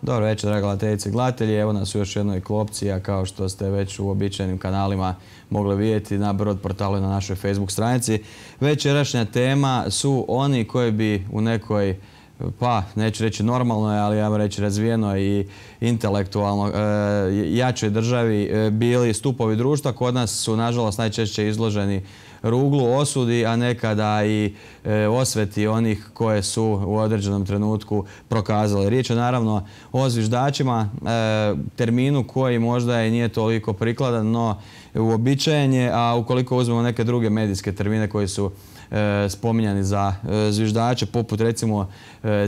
Dobro večer, draga gledateljice i gledatelji. Evo nas u još jednoj klopci, a kao što ste već u uobičajenim kanalima mogli vidjeti na Brod portalu i na našoj Facebook stranici. Večerašnja tema su oni koji bi u nekoj, pa neću reći normalnoj, ali ja bih reći razvijenoj i intelektualno jačoj državi bili stupovi društva. Kod nas su nažalost najčešće izloženi ruglu, osudi, a nekada i osveti onih koje su u određenom trenutku prokazali. Riječ je naravno o zviždačima, terminu koji možda i nije toliko prikladan, no uobičajen je, a ukoliko uzmemo neke druge medijske termine koji su spominjani za zviždače, poput recimo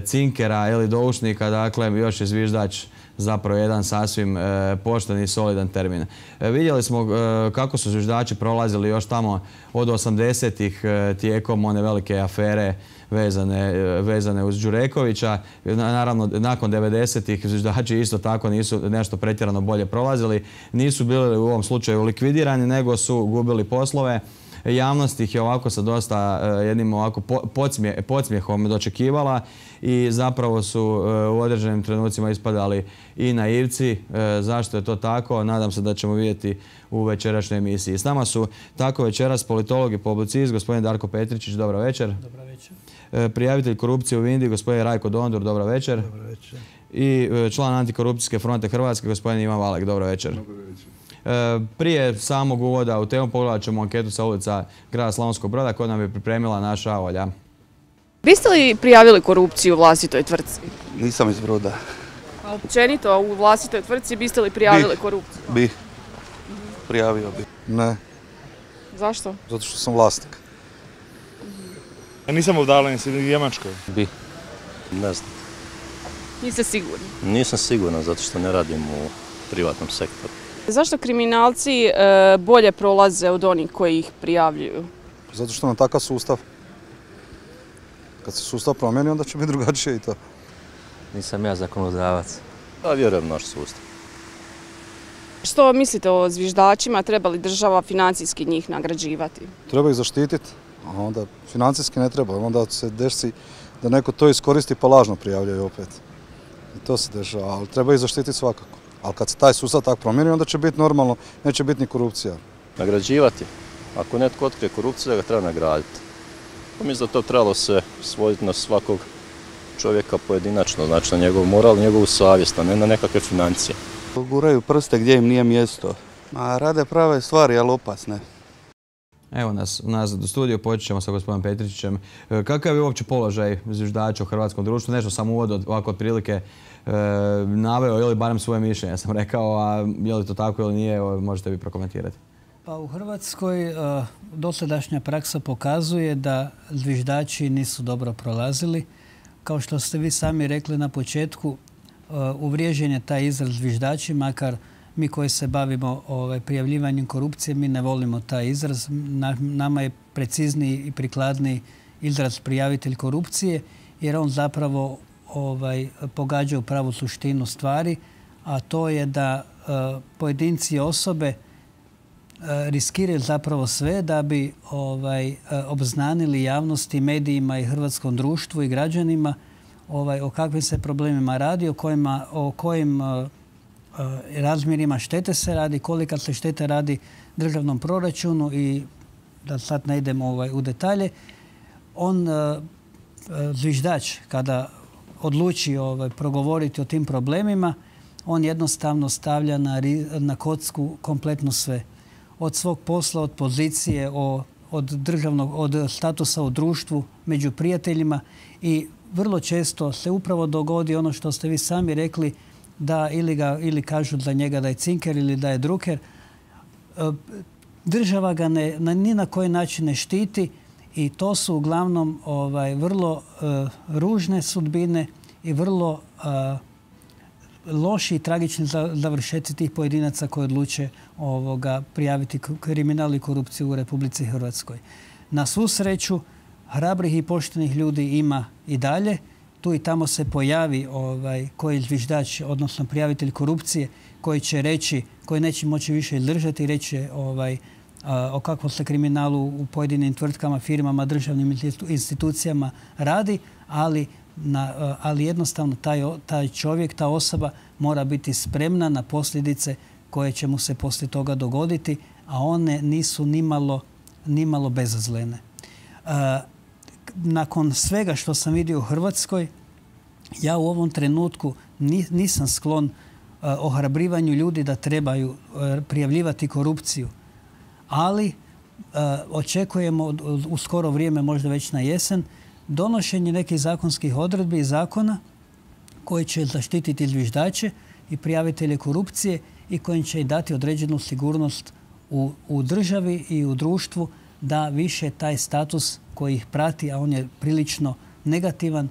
cinkera ili doušnika, dakle još je zviždač zapravo jedan sasvim pošten i solidan termin. Vidjeli smo kako su zviždači prolazili još tamo od 80-ih tijekom one velike afere vezane uz Đurekovića. Naravno, nakon 90-ih zviždači isto tako nisu nešto pretjerano bolje prolazili. Nisu bili u ovom slučaju likvidirani, nego su gubili poslove. Javnost ih je ovako sa dosta jednim ovako podsmijehom dočekivala i zapravo su u određenim trenucima ispadali i naivci. Zašto je to tako? Nadam se da ćemo vidjeti u večerašnjoj emisiji. S nama su tako večeras politolog i publicist, gospodin Darko Petričić, dobro večer. Dobro večer. Prijavitelj korupcije u Vindi, gospodin Rajko Dondur, dobro večer. Dobro večer. I član Antikorupcijske fronte Hrvatske, gospodin Ivan Valek, dobro večer. Dobro večer. Prije samog uvoda u temu pogledat ćemo anketu sa ulica grada Slavonskog Broda koju nam je pripremila naša Olja. Biste li prijavili korupciju u vlastitoj tvrtci? Nisam iz Broda. A općenito u vlastitoj tvrtci biste li prijavili korupciju? Bih. Prijavio bih. Ne. Zašto? Zato što sam vlasnik. Ja nisam udaljen u Njemačkoj. Bi. Ne znam. Niste sigurni? Nisam siguran zato što ne radim u privatnom sektoru. Zašto kriminalci bolje prolaze od onih koji ih prijavljuju? Zato što nam takav sustav. Kad se sustav promijeni, onda će biti drugačije i to. Nisam ja zakonodavac. Ja vjerujem naš sustav. Što mislite o zviždačima? Treba li država financijski njih nagrađivati? Treba ih zaštititi, a onda financijski ne treba. Onda se desi da neko to iskoristi pa lažno prijavljaju opet. I to se dešava, ali treba ih zaštititi svakako. Ali kad se taj sustav tako promijeni, onda će biti normalno, neće biti ni korupcija. Nagrađivati. Ako netko otkrije korupciju, da ga treba nagraditi. Mislim da to trebalo se svoditi na svakog čovjeka pojedinačno, znači na njegov moral, njegovu savjest, a ne na nekakve financije. Guraju prste gdje im nije mjesto. Rade prave stvari, ali opasne. Evo nas nazad u studiju, počet ćemo sa gospodinom Petričićem. Kakav je uopće položaj zviždača u hrvatskom društvu? Nešto sam uvod ovako otprilike naveo ili barem svoje mišljenje sam rekao, a je li to tako ili nije, možete vi prokomentirati. Pa u Hrvatskoj dosadašnja praksa pokazuje da zviždači nisu dobro prolazili. Kao što ste vi sami rekli na početku, uvriježen je taj izraz zviždači, makar mi koji se bavimo prijavljivanjem korupcije, mi ne volimo taj izraz. Nama je precizniji i prikladniji izraz prijavitelj korupcije, jer on zapravo pogađa u pravu suštinu stvari, a to je da pojedinci i osobe riskiraju zapravo sve da bi obznanili javnosti, medijima i hrvatskom društvu i građanima o kakvim se problemima radi, o kojim razmjerima štete se radi, kolika se štete radi državnom proračunu i da sad ne idemo u detalje. On, zviždač, kada odluči progovoriti o tim problemima, on jednostavno stavlja na kocku kompletno sve. Od svog posla, od pozicije, od statusa u društvu, među prijateljima i vrlo često se upravo dogodi ono što ste vi sami rekli, da ili kažu za njega da je cinker ili da je druker. Država ga ni na koji način ne štiti i to su uglavnom vrlo ružne sudbine i vrlo loši i tragični završetci tih pojedinaca koji odluče prijaviti kriminal i korupciju u Republici Hrvatskoj. Na svu sreću, hrabrih i poštenih ljudi ima i dalje. Tu i tamo se pojavi koji zviždač, odnosno prijavitelj korupcije, koji će reći, koji neće moći više izdržati i reći o kakvom se kriminalu u pojedinim tvrtkama, firmama, državnim institucijama radi, ali jednostavno taj čovjek, ta osoba mora biti spremna na posljedice koje će mu se poslije toga dogoditi, a one nisu nimalo bezazlene. Nakon svega što sam vidio u Hrvatskoj, ja u ovom trenutku nisam sklon ohrabrivanju ljudi da trebaju prijavljivati korupciju, ali očekujemo u skoro vrijeme, možda već na jesen, donošenje nekih zakonskih odredbi i zakona koji će zaštititi zviždače i prijavitelje korupcije i koji će dati određenu sigurnost u državi i u društvu da više taj status koji ih prati, a on je prilično negativan,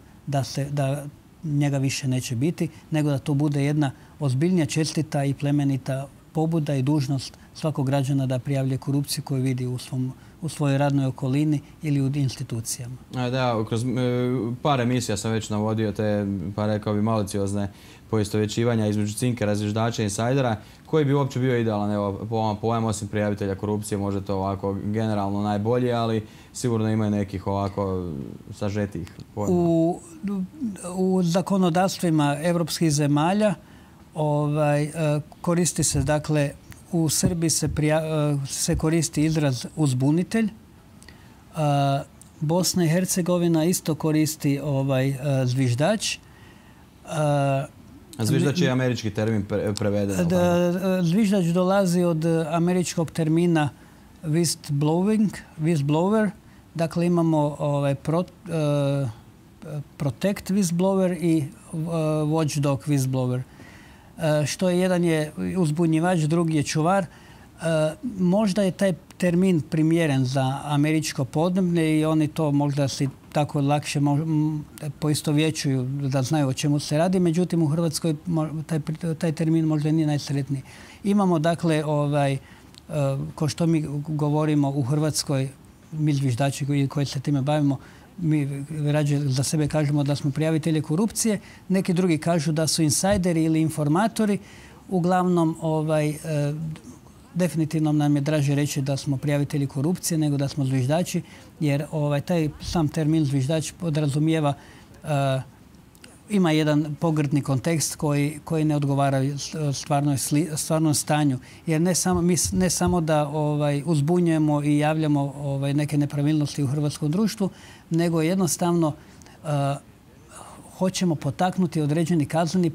da njega više neće biti, nego da to bude jedna ozbiljnija, čestita i plemenita pobuda i dužnost svakog građana da prijavlja korupciju koju vidi u svojoj radnoj okolini ili u institucijama. Da, kroz par emisija sam već navodio te, pa rekao bi, maliciozne poistovjećivanja između cinkera, zviždača i insajdera. Koji bi uopće bio idealan, evo, po ovom pojmu, osim prijavitelja korupcije, možda to ovako generalno najbolji, ali sigurno ima nekih ovako sažetih pojma. U zakonodavstvima evropskih zemalja koristi se, dakle, u Srbiji se koristi izraz uzbunitelj. Bosna i Hercegovina isto koristi zviždač. Zviždač je američki termin preveden. Zviždač dolazi od američkog termina whistleblower. Dakle, imamo protect whistleblower i watchdog whistleblower. Što je jedan je uzbunjivač, drugi je čuvar. Možda je taj termin primjeren za američko podneblje i oni to možda si tako lakše poistovjećuju da znaju o čemu se radi. Međutim, u Hrvatskoj taj termin možda nije najsretniji. Imamo, dakle, ko što mi govorimo u Hrvatskoj, mi zviždači koji se time bavimo, mi rađe za sebe kažemo da smo prijavitelji korupcije, neki drugi kažu da su insajderi ili informatori. Uglavnom, definitivno nam je draže reći da smo prijavitelji korupcije nego da smo zviždači, jer taj sam termin zviždač podrazumijeva, ima jedan pogrdni kontekst koji ne odgovara stvarnom stanju. Jer ne samo da uzbunjujemo i javljamo neke nepravilnosti u hrvatskom društvu, nego jednostavno hoćemo potaknuti određeni kazneni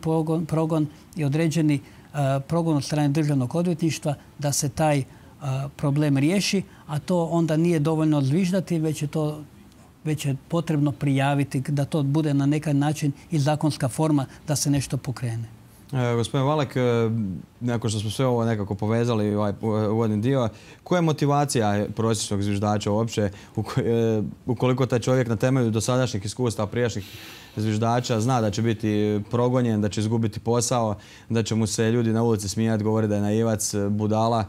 progon i određeni progon od strane državnog odvjetništva da se taj problem riješi, a to onda nije dovoljno zviždati, već je potrebno prijaviti, da to bude na neki način i zakonska forma da se nešto pokrene. Gospodin Valek, nakon što smo sve ovo nekako povezali, ovaj uvodni dio, koja je motivacija prosječnog zviždača uopće, ukoliko taj čovjek na temelju dosadašnjih iskustava prijašnjih zviždača zna da će biti progonjen, da će izgubiti posao, da će mu se ljudi na ulici smijati, govori da je naivac, budala?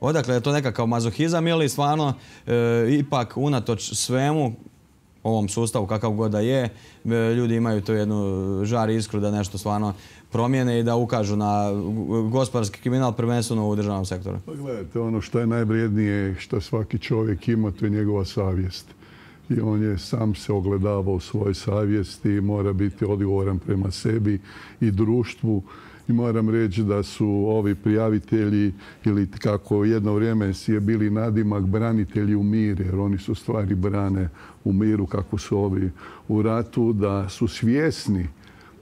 Odakle je to nekakav mazohizam ili stvarno ipak unatoč svemu, ovom sustavu kakav god da je, ljudi imaju tu jednu žar iskru da nešto stvarno promijene i da ukažu na gospodarski kriminal prvenstveno u državnom sektoru? Pa gledajte, ono što je najvrijednije što svaki čovjek ima, to je njegova savjest. I on je sam se ogledavao u svojoj savjesti i mora biti odgovoran prema sebi i društvu. I moram reći da su ovi prijavitelji, ili kako jedno vrijeme je bili nadimak, branitelji u miru, jer oni su stvari brane u miru kako su ovi u ratu, da su svjesni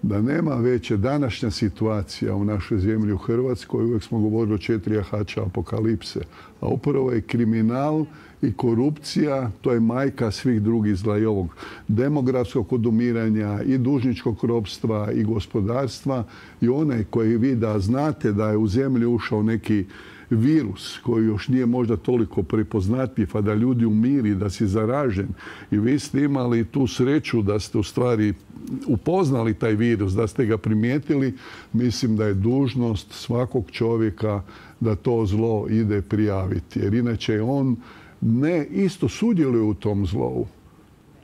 da nema veće današnja situacija u našoj zemlji u Hrvatskoj. Uvijek smo govorili o 4 jahača apokalipse. A upravo je kriminal i korupcija, to je majka svih drugih zla, i ovog demografskog odumiranja i dužničkog ropstva i gospodarstva. I onaj koji vi da znate da je u zemlju ušao neki virus koji još nije možda toliko prepoznatljiv, a da ljudi umiri, da si zaražen. I vi ste imali tu sreću da ste u stvari upoznali taj virus, da ste ga primijetili. Mislim da je dužnost svakog čovjeka da to zlo ide prijaviti. Jer inače on ne isto sudjeluje u tom zlovu.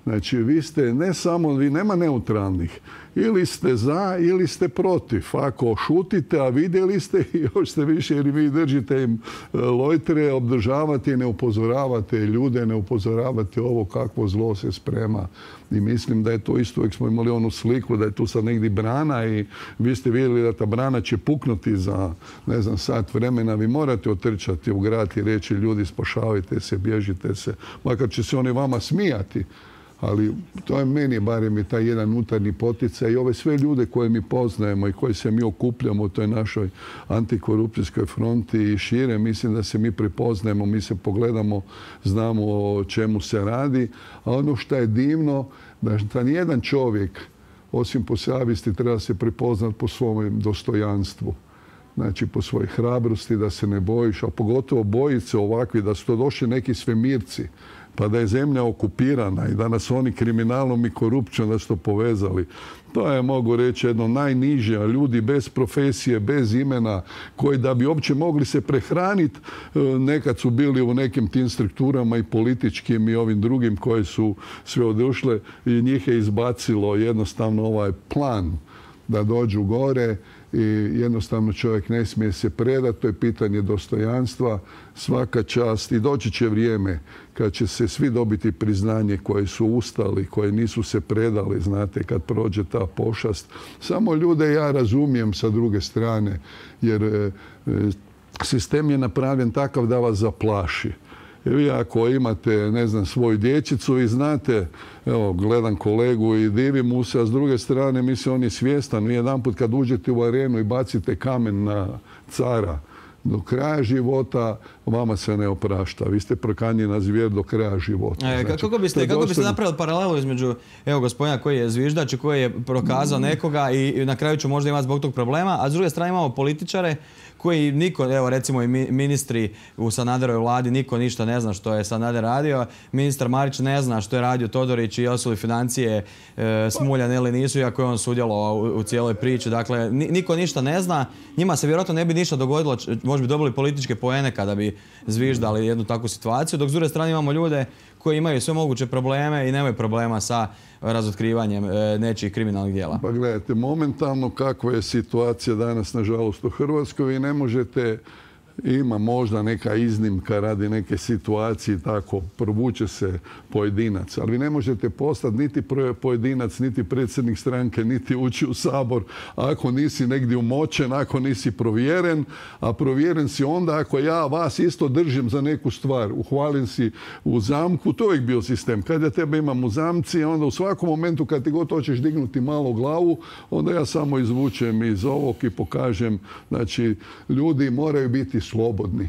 Znači, vi ste ne samo, vi nema neutralnih. Ili ste za, ili ste protiv. Ako šutite, a vidjeli ste, još ste više, jer vi držite im lojtre, obdržavate i ne upozoravate ljude, ne upozoravate ovo kakvo zlo se sprema. I mislim da je to isto, uvijek smo imali onu sliku da je tu sad negdje brana i vi ste vidjeli da ta brana će puknuti za, ne znam, sat vremena. Vi morate otrčati u grad i reći ljudi spašavajte se, bježite se. Makar će se oni vama smijati. Ali to je meni barem i taj jedan unutarnji poticaj i ove sve ljude koje mi poznajemo i koje se mi okupljamo u toj našoj antikorupcijskoj fronti i šire, mislim da se mi prepoznajemo, mi se pogledamo, znamo o čemu se radi. A ono što je divno, da nijedan čovjek, osim po savjesti, treba se prepoznati po svom dostojanstvu. Znači, po svojoj hrabrosti, da se ne bojiš, a pogotovo bojice se ovakvi, da su to došli neki svemirci, pa da je zemlja okupirana i da nas oni kriminalom i korupcijom da su to povezali. To je, mogu reći, jedno najniže, a ljudi bez profesije, bez imena, koji da bi uopće mogli se prehraniti, nekad su bili u nekim tim strukturama i političkim i ovim drugim koje su sve odušle i njih je izbacilo jednostavno ovaj plan da dođu gore i jednostavno čovjek ne smije se predati, to je pitanje dostojanstva, svaka čast i doći će vrijeme kad će se svi dobiti priznanje koje su ustali, koje nisu se predali, znate, kad prođe ta pošast. Samo ljude ja razumijem sa druge strane, jer sistem je napravljen takav da vas zaplaši. Vi ako imate, ne znam, svoju dječicu i znate, evo, gledam kolegu i divim mu se, a s druge strane, mislim, on je svjestan. Vi jedanput kad uđete u arenu i bacite kamen na cara, do kraja života vama se ne oprašta. Vi ste prokanjena zvijer do kraja života. Znači, kako biste napravili paralelu između gospodina koji je zviždač i koji je prokazao nekoga i na kraju će možda imati zbog tog problema, a s druge strane imamo političare koji niko, evo recimo i ministri u Sanaderovoj vladi, niko ništa ne zna što je Sanader radio. Ministar Marić ne zna što je radio Todorić i jesu li financije smuljane ili nisu, iako je on sudjelovao u cijeloj priči. Dakle, niko ništa ne zna. Njima se vjerojatno ne bi ništa dogodilo, možda bi dobili političke poene kada bi zviždali jednu takvu situaciju, dok s druge strane imamo ljude koji imaju sve moguće probleme i nemaju problema sa razotkrivanjem nečijih kriminalnih djela. Pa gledajte, momentalno kakva je situacija danas, nažalost, u Hrvatskoj, vi ne možete, ima možda neka iznimka radi neke situacije, tako, provuče se pojedinac, ali vi ne možete postati niti pojedinac, niti predsjednik stranke, niti ući u Sabor ako nisi negdje umočen, ako nisi provjeren, a provjeren si onda ako ja vas isto držim za neku stvar, uhvalim si u zamku, to je uvijek bio sistem. Kad ja tebe imam u zamci, onda u svakom momentu kad ti god hoćeš dignuti malo glavu, onda ja samo izvučem iz ovog i pokažem, znači, ljudi moraju biti slobodni.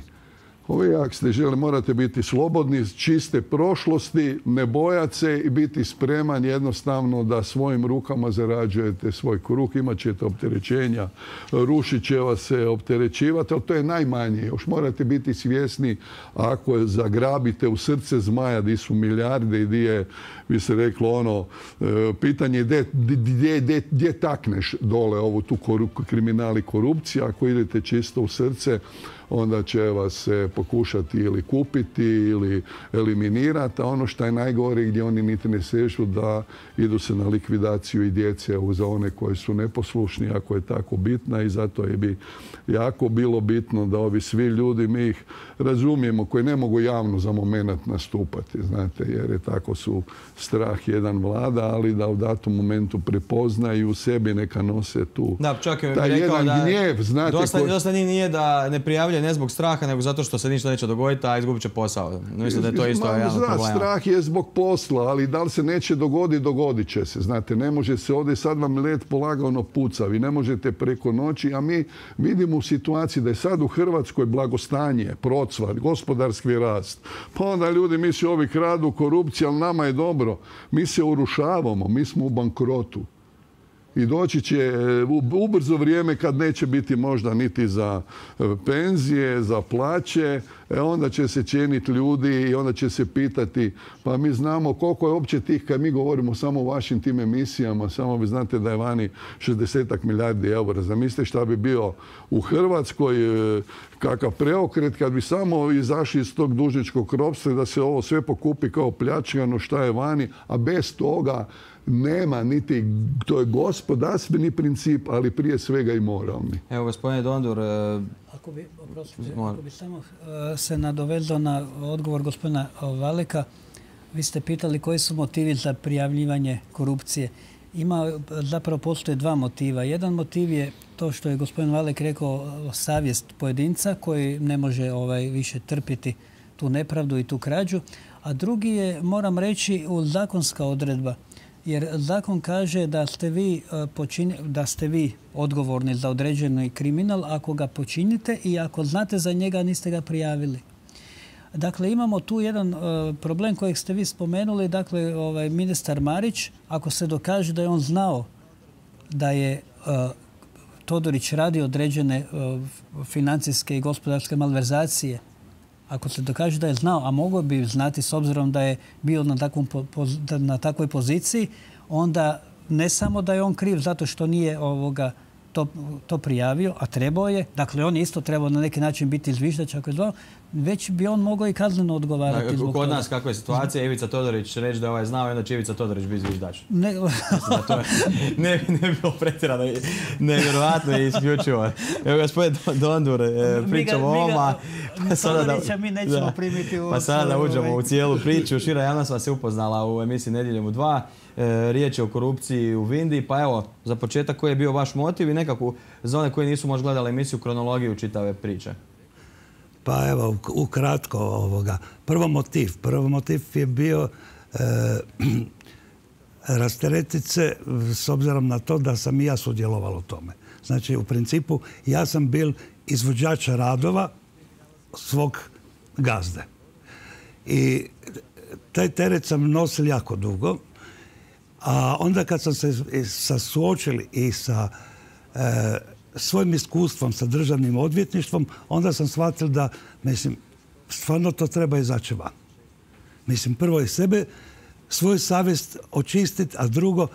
Ovi, ako ste želi, morate biti slobodni, čiste prošlosti, ne bojati se i biti spreman jednostavno da svojim rukama zarađujete svoj kruh, imat ćete opterećenja, rušit će vas se opterećivati, ali to je najmanje. Još morate biti svjesni ako zagrabite u srce zmaja di su milijarde i di je, bi se reklo ono, pitanje gdje takneš dole ovu tu kriminal i korupciju, ako idete čisto u srce, onda će vas se pokušati ili kupiti ili eliminirati, a ono što je najgore gdje oni niti ne sežu da idu se na likvidaciju i djece za one koji su neposlušni, ako je tako bitna i zato je bi jako bilo bitno da ovi svi ljudi, mi ih razumijemo, koji ne mogu javno za moment nastupati, znate, jer je tako su strah jedan vlada, ali da u datom momentu prepoznaju u sebi neka nose tu taj jedan gnjev, znate. Dosta nije da ne prijavljaju ne zbog straha, nego zato što se ništa neće dogoditi, a izgubit će posao. Mislim da je to isto jedan od problema. Strah je zbog posla, ali da li se neće dogoditi, dogodit će se. Znate, ne može se ovdje, sad vam led polagano puca, vi ne možete preko noći, a mi vidimo u situaciji da je sad u Hrvatskoj blagostanje, procvat, gospodarski rast. Pa onda ljudi misle ovi kradu, korupcija, ali nama je dobro. Mi se urušavamo, mi smo u bankrotu. I doći će ubrzo vrijeme kad neće biti možda niti za penzije, za plaće, onda će se cijeniti ljudi i onda će se pitati, pa mi znamo koliko je uopće tih, kad mi govorimo samo o vašim tim emisijama, samo vi znate da je vani 60 milijardi eura. Zamislite šta bi bio u Hrvatskoj, kakav preokret kad bi samo izašli iz tog dužničkog ropstva, da se ovo sve pokupi kao pljačkano šta je vani, a bez toga nema niti, to je gospodarstveni princip, ali prije svega i moralni. Evo, gospodine Dondur... Ako bi samo se nadovezao na odgovor gospodina Valeka, vi ste pitali koji su motivi za prijavljivanje korupcije. Zapravo postoje dva motiva. Jedan motiv je to što je gospodin Valek rekao, savjest pojedinca koji ne može više trpiti tu nepravdu i tu krađu. A drugi je, moram reći, zakonska odredba. Jer zakon kaže da ste vi odgovorni za određeni kriminal ako ga počinite i ako znate za njega, niste ga prijavili. Dakle, imamo tu jedan problem kojeg ste vi spomenuli. Dakle, ministar Marić, ako se dokaže da je on znao da je Todorić radi određene financijske i gospodarske malverzacije, ako se dokaže da je znao, a mogao bi znati s obzirom da je bio na takvoj poziciji, onda ne samo da je on kriv zato što nije to prijavio, a trebao je, dakle on je isto trebao na neki način biti zviždač ako je zvao, već bi on mogao i kazneno odgovarati zbog toga. Kod nas kakva je situacija, Ivica Todorić reći da je znao i onda će Ivica Todorić biti zviždač. Ne bi bilo pretjerano, nevjerojatno i isključivo. Evo, gospodin Dondur, pričamo o ovoma. Todorića mi nećemo primiti u... Pa sada da uđemo u cijelu priču. Šira javnost vas je upoznala u emisiji Nedjeljom u 2. Riječ je o korupciji u Vindiji. Pa evo, za početak koji je bio vaš motiv i nekako za one koji nisu možda gledali emisiju kronologiju čitave priče. Pa evo, ukratko Prvo motiv je bio rasteretiti se s obzirom na to da sam i ja sudjelovao u tome. Znači, u principu, ja sam bil izvođač radova svog gazde. I taj teret sam nosil jako dugo. A onda kad sam se suočili i sa svojim iskustvom sa državnim odvjetništvom, onda sam shvatio da, stvarno to treba izaći van. Prvo i sebe, svoju savjest očistiti, a drugo,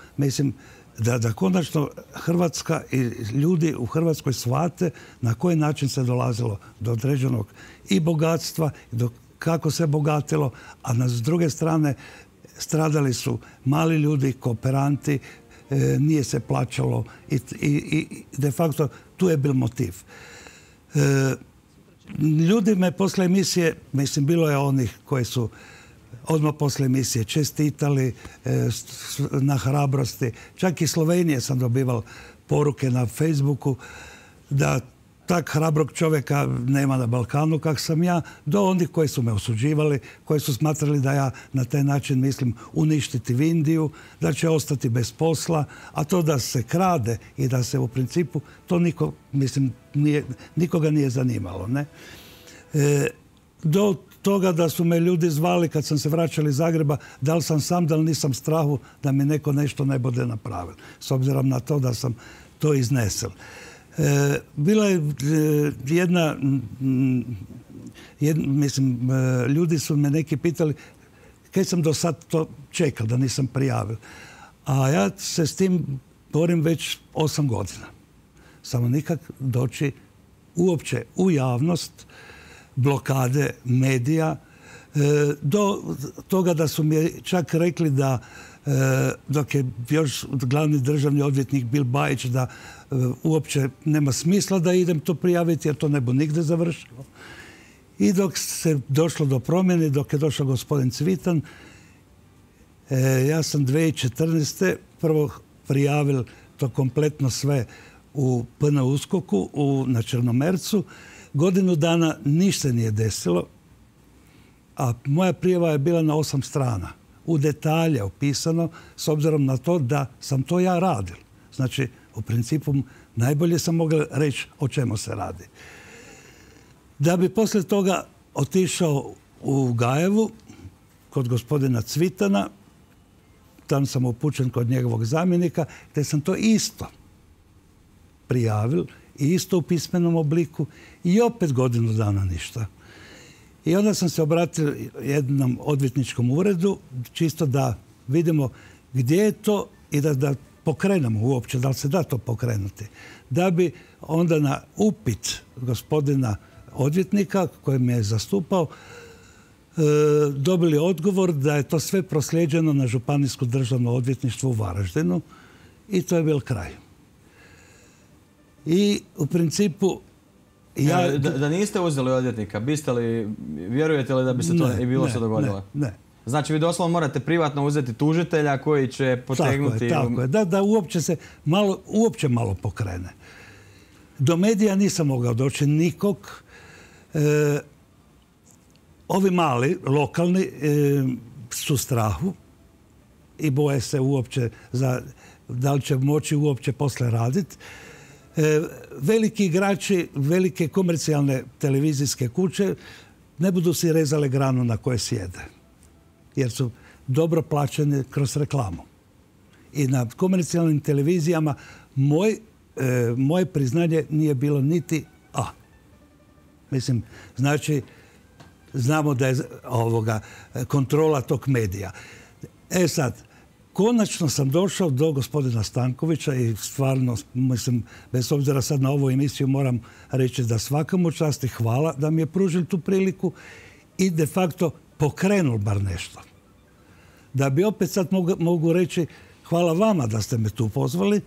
da konačno Hrvatska i ljudi u Hrvatskoj shvate na koji način se dolazilo do određenog i bogatstva, do kako se bogatilo, a s druge strane stradali su mali ljudi, kooperanti, nije se plaćalo i de facto tu je bil motiv. Ljudi me posle emisije, bilo je onih koji su odmah posle emisije čestitali na hrabrosti. Čak i Slovenije sam dobival poruke na Facebooku da tak hrabrog čovjeka nema na Balkanu kak sam ja, do onih koji su me osuđivali, koji su smatrali da ja na taj način mislim uništiti Vindiju, da će ostati bez posla, a to da se krade i da se u principu, to nikoga nije zanimalo. Ne? Do toga da su me ljudi zvali kad sam se vraćali iz Zagreba, da li sam sam, da li nisam strahu da mi neko nešto ne bude napravil. S obzirom na to da sam to iznesel. Bila je ljudi su me neki pitali kaj sam do sad to čekal, da nisam prijavil. A ja se s tim borim već 8 godina. Samo nikak doći uopće u javnost, blokade medija, do toga da su mi čak rekli da dok je još glavni državni odvjetnik Bil Bajić da uopće nema smisla da idem to prijaviti jer to ne bu nigde završilo. I dok se došlo do promjene, dok je došao gospodin Cvitan, ja sam 2014. prvo prijavil to kompletno sve u PN USKOK-u na Črnomercu. Godinu dana ništa nije desilo, a moja prijava je bila na 8 strana. U detalje opisano, s obzirom na to da sam to ja radil. Znači, u principu, najbolje sam mogao reći o čemu se radi. Da bi poslije toga otišao u Gajevu, kod gospodina Cvitana, subotan sam upućen kod njegovog zamjenika, te sam to isto prijavil i isto u pismenom obliku i opet godinu dana ništa. I onda sam se obratio jednom odvjetničkom uredu, čisto da vidimo gdje je to i da pokrenemo uopće, da li se da to pokrenuti. Da bi onda na upit gospodina odvjetnika koji me je zastupao dobili odgovor da je to sve proslijeđeno na Županijsko državno odvjetništvo u Varaždinu i to je bil kraj. I u principu Da niste uzeli odvjetnika, vjerujete li da bi se to i bilo što dogodilo? Ne. Znači vi doslovno morate privatno uzeti tužitelja koji će potegnuti... Tako je. Da uopće se malo pokrene. Do medija nisam mogao doći nikog. Ovi mali, lokalni, su strahu i boje se uopće da li će moći uopće posle raditi. Veliki igrači, velike komercijalne televizijske kuće ne budu si rezale granu na koje sjede. Jer su dobro plaćene kroz reklamu. I na komercijalnim televizijama moje priznanje nije bilo niti A. Mislim, znači, znamo da je kontrola tog medija. Sad, konačno sam došao do gospodina Stankovića i stvarno, mislim, bez obzira sad na ovu emisiju moram reći da svakamu čast i hvala da mi je pružil tu priliku i de facto pokrenul bar nešto. Da bi opet sad mogu reći hvala vama da ste me tu pozvali,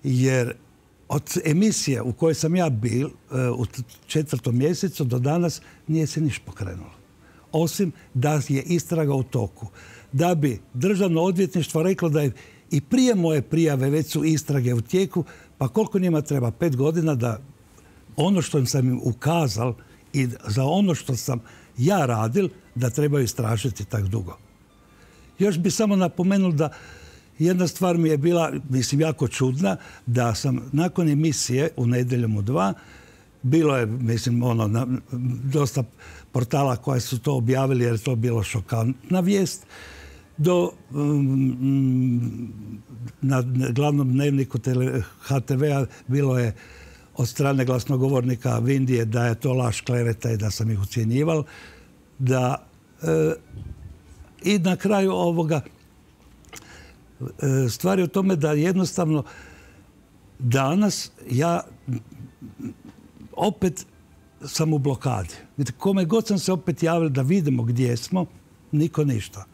jer od emisije u kojoj sam ja bil u 4. mjesecu do danas nije se niš pokrenulo. Osim da je istraga u toku. Da bi državno odvjetništvo reklo da je i prije moje prijave već su istrage u tijeku, pa koliko njima treba 5 godina da ono što sam im ukazal i za ono što sam ja radil, da trebaju istražiti tak dugo. Još bi samo napomenul da jedna stvar mi je bila, mislim, jako čudna, da sam nakon emisije u Nedjeljom u 2, bilo je, mislim, dosta portala koja su to objavili jer je to bilo šokantna vijest, na glavnom dnevniku HTV-a bilo je od strane glasnogovornika Vindije da je to laž, kleveta i da sam ih ucjenjival. I na kraju ovoga stvar je u tome da jednostavno danas ja opet sam u blokadi. Kome god sam se opet javio da vidimo gdje smo, niko ništa.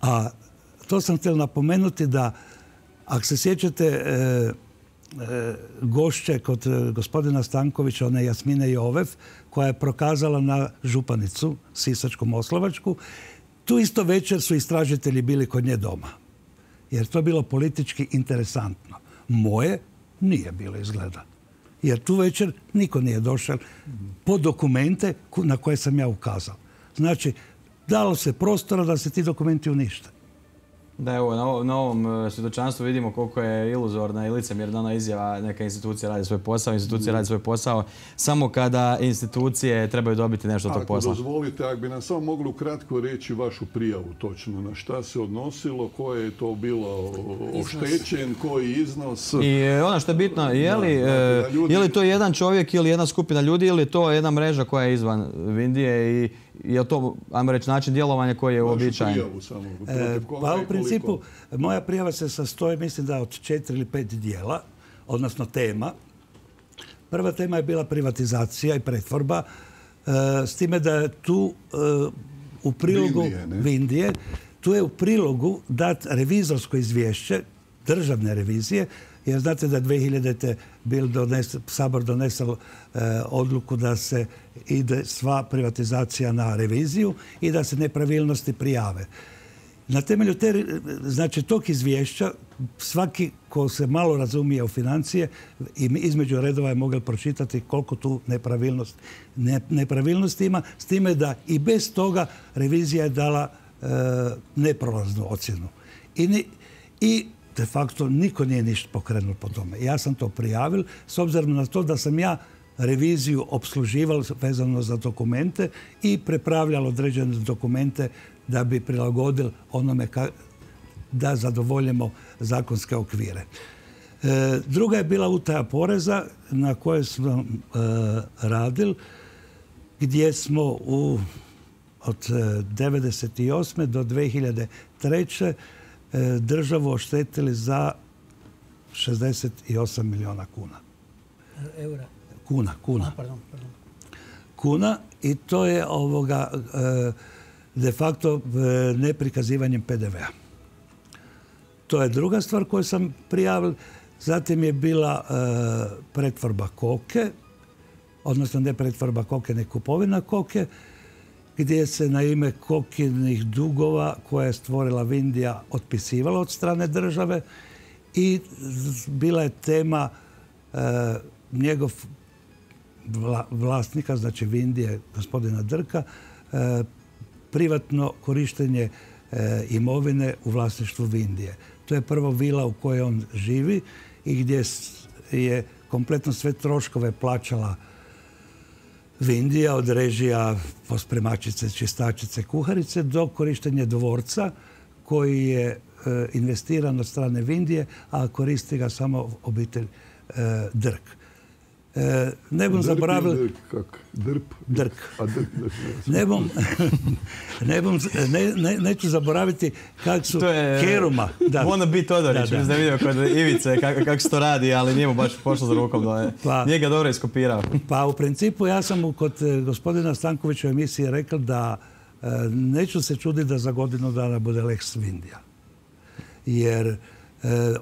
A to sam htio napomenuti da, ako se sjećate gošće kod gospodina Stankovića, one Jasmine Jovev, koja je prokazala na županicu Sisačko-moslavačku, tu isto večer su istražitelji bili kod nje doma. Jer to je bilo politički interesantno. Moje nije bilo izgleda. Jer tu večer niko nije došao po dokumente na koje sam ja ukazao. Znači, dalo se prostora da se ti dokumenti unište. Da, evo, na ovom svjedočanstvu vidimo koliko je iluzorna i licemjerna ona izjava neka institucija radi svoj posao, institucija radi svoj posao samo kada institucije trebaju dobiti nešto od tog posla. Ako dozvolite, ako bi nam samo mogli ukratko reći vašu prijavu točno, na šta se odnosilo, koje je to bilo oštećen, koji iznos... I ono što je bitno, je li to jedan čovjek ili jedna skupina ljudi ili je to jedna mreža koja je izvan Vindije i je li to, ajmo reći, način djelovanja koji je uobičajen? Pa u principu, moja prijava se sastoji, mislim da od 4 ili 5 dijela, odnosno tema. Prva tema je bila privatizacija i pretvorba, s time da je tu u prilogu Vindije, tu je u prilogu dat revizorsko izvješće državne revizije, jer znate da 2000. Sabor donesao odluku da se ide sva privatizacija na reviziju i da se nepravilnosti prijave. Na temelju tog izvješća svaki ko se malo razumije u financije i između redova je mogao pročitati koliko tu nepravilnosti ima, s time da i bez toga revizija je dala neprolaznu ocjenu. I de facto niko nije ništa pokrenuo po tome. Ja sam to prijavil s obzirom na to da sam ja reviziju opslužival vezano za dokumente i prepravljal određene dokumente da bi prilagodil onome da zadovoljimo zakonske okvire. Druga je bila utaja poreza na kojoj smo radili, gdje smo od 1998. do 2003. državu oštetili za 68 milijuna kuna. Eura? Kuna. Pardon. Kuna, i to je de facto neprikazivanjem PDV-a. To je druga stvar koju sam prijavil. Zatim je bila pretvorba koke, odnosno ne pretvorba koke, ne kupovina koke, gdje se na ime kokinih dugova koje je stvorila Vindija otpisivala od strane države i bila je tema njegov vlasnika, znači Vindije, gospodina Drka, privatno korištenje imovine u vlasništvu Vindije. To je prvo vila u kojoj on živi i gdje je kompletno sve troškove plaćala Vindija, od režija, pospremačice, čistačice, kuharice, do korištenja dvorca koji je investiran od strane Vindije, a koristi ga samo obitelj Drk. Ne bom zaboravili... Drk. Neću zaboraviti kako su Keruma... Ono bi Todorić, mislim da je vidio kod Ivice kako se to radi, ali nije mu baš pošlo za rukom. Nije ga dobro iskopirao. Pa u principu ja sam kod gospodina Stankovića u emisiji rekao da neću se čuditi da za godinu dana bude Lex Vindija. Jer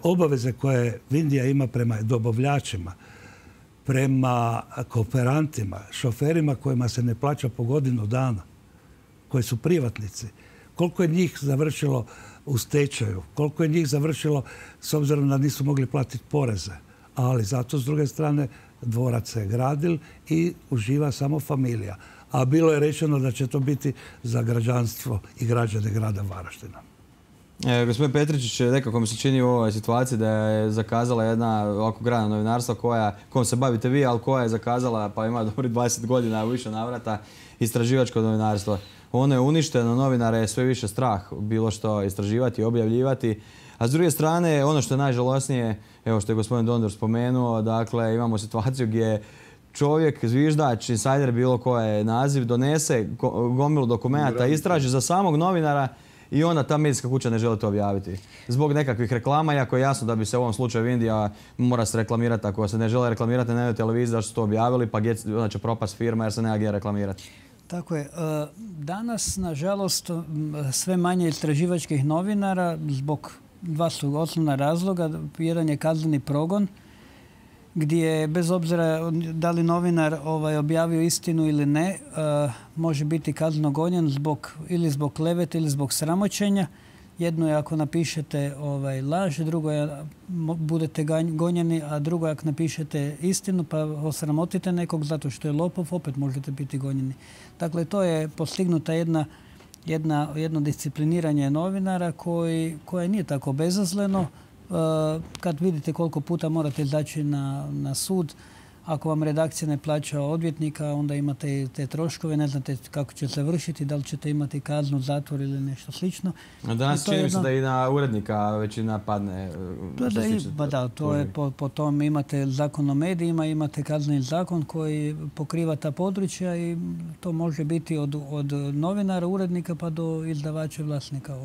obaveze koje Vindija ima prema dobavljačima, prema kooperantima, šoferima kojima se ne plaća po godinu dana, koji su privatnici, koliko je njih završilo u stečaju, koliko je njih završilo s obzirom da nisu mogli platiti poreze. Ali zato, s druge strane, dvorac se gradil i uživa samo familija. A bilo je rečeno da će to biti za građanstvo i građane grada Varaždina. Gospodin Petričić, nekako mi se čini u ovoj situaciji da je zakazala jedna ovako grana novinarstva kojom se bavite vi, ali koja je zakazala, pa ima dobri 20 godina u više navrata, istraživačko novinarstvo. Ono je uništeno, novinare je sve više strah bilo što istraživati, objavljivati. A s druge strane, ono što je najžalosnije, evo što je gospodin Dondor spomenuo, dakle imamo situaciju gdje čovjek, zviždač, insajder, bilo koje naziv, donese gomilu dokumenata, istraži za samog novinara i onda ta medijska kuća ne želi to objaviti. Zbog nekakvih reklama, iako je jasno da bi se u ovom slučaju Vindija mora se reklamirati. Ako se ne žele reklamirati na televiziji, zašto su to objavili, pa onda će propast firma jer se nema gdje reklamirati. Tako je. Danas, nažalost, sve manje istraživačkih novinara, zbog dva su osnovna razloga. Jedan je kazneni progon, gdje bez obzira da li novinar objavio istinu ili ne, može biti kazneno gonjen ili zbog klevete ili zbog sramoćenja. Jedno je ako napišete laž, drugo je budete gonjeni, a drugo je ako napišete istinu pa osramotite nekog zato što je lopov, opet možete biti gonjeni. Dakle, to je postignuta jedno discipliniranje novinara koje nije tako bezazleno. Kad vidite koliko puta morate izaći na sud, ako vam redakcija ne plaća odvjetnika, onda imate te troškove, ne znate kako će se vršiti, da li ćete imati kaznu, zatvor ili nešto slično. Danas čini mi se da i na urednika većina padne. Da, to je po tom imate zakon o medijima, imate kazneni zakon koji pokriva ta područja i to može biti od novinara, urednika pa do izdavača i vlasnika.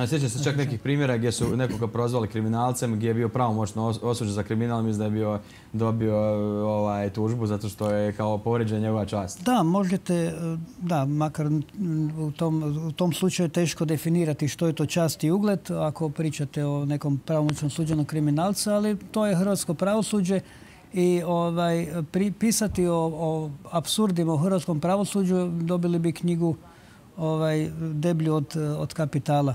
Sjećam se čak nekih primjera gdje su nekoga prozvali kriminalcem, gdje je bio pravomoćno osuđen za kriminal, mislim da je dobio tužbu zato što je kao povrijeđena njegova čast. Da, možete, makar u tom slučaju teško definirati što je to čast i ugled ako pričate o nekom pravomoćno suđenom kriminalcu, ali to je hrvatsko pravosuđe i pisati o apsurdima u hrvatskom pravosuđu dobili bi knjigu deblju od Kapitala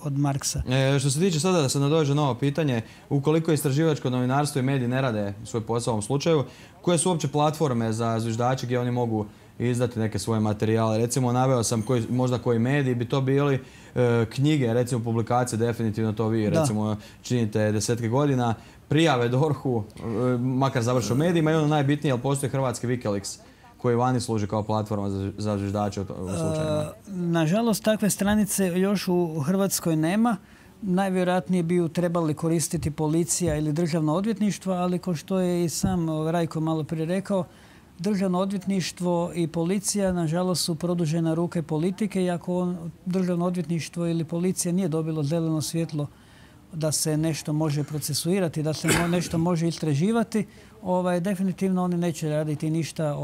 od Marksa. Što se tiče sada da se nadođe novo pitanje, ukoliko istraživačko novinarstvo i mediji ne rade svoj posao u ovom slučaju, koje su uopće platforme za zviždače gdje oni mogu izdati neke svoje materijale? Recimo, naveo sam možda koji mediji bi to bili knjige, recimo publikacije, definitivno to vi recimo činite desetke godina, prijave DORH-u, makar završe u medijima i ono najbitnije, ali postoji hrvatski Wikileaks koji vani služi kao platforma za zviždače u slučajima. Nažalost, takve stranice još u Hrvatskoj nema. najvjerojatnije bi ju trebali koristiti policija ili državno odvjetništvo, ali kao što je i sam Rajko malo prije rekao, državno odvjetništvo i policija nažalost su produžena ruke politike i ako državno odvjetništvo ili policija nije dobilo zeleno svjetlo da se nešto može procesuirati, da se nešto može istraživati, definitivno oni neće raditi ništa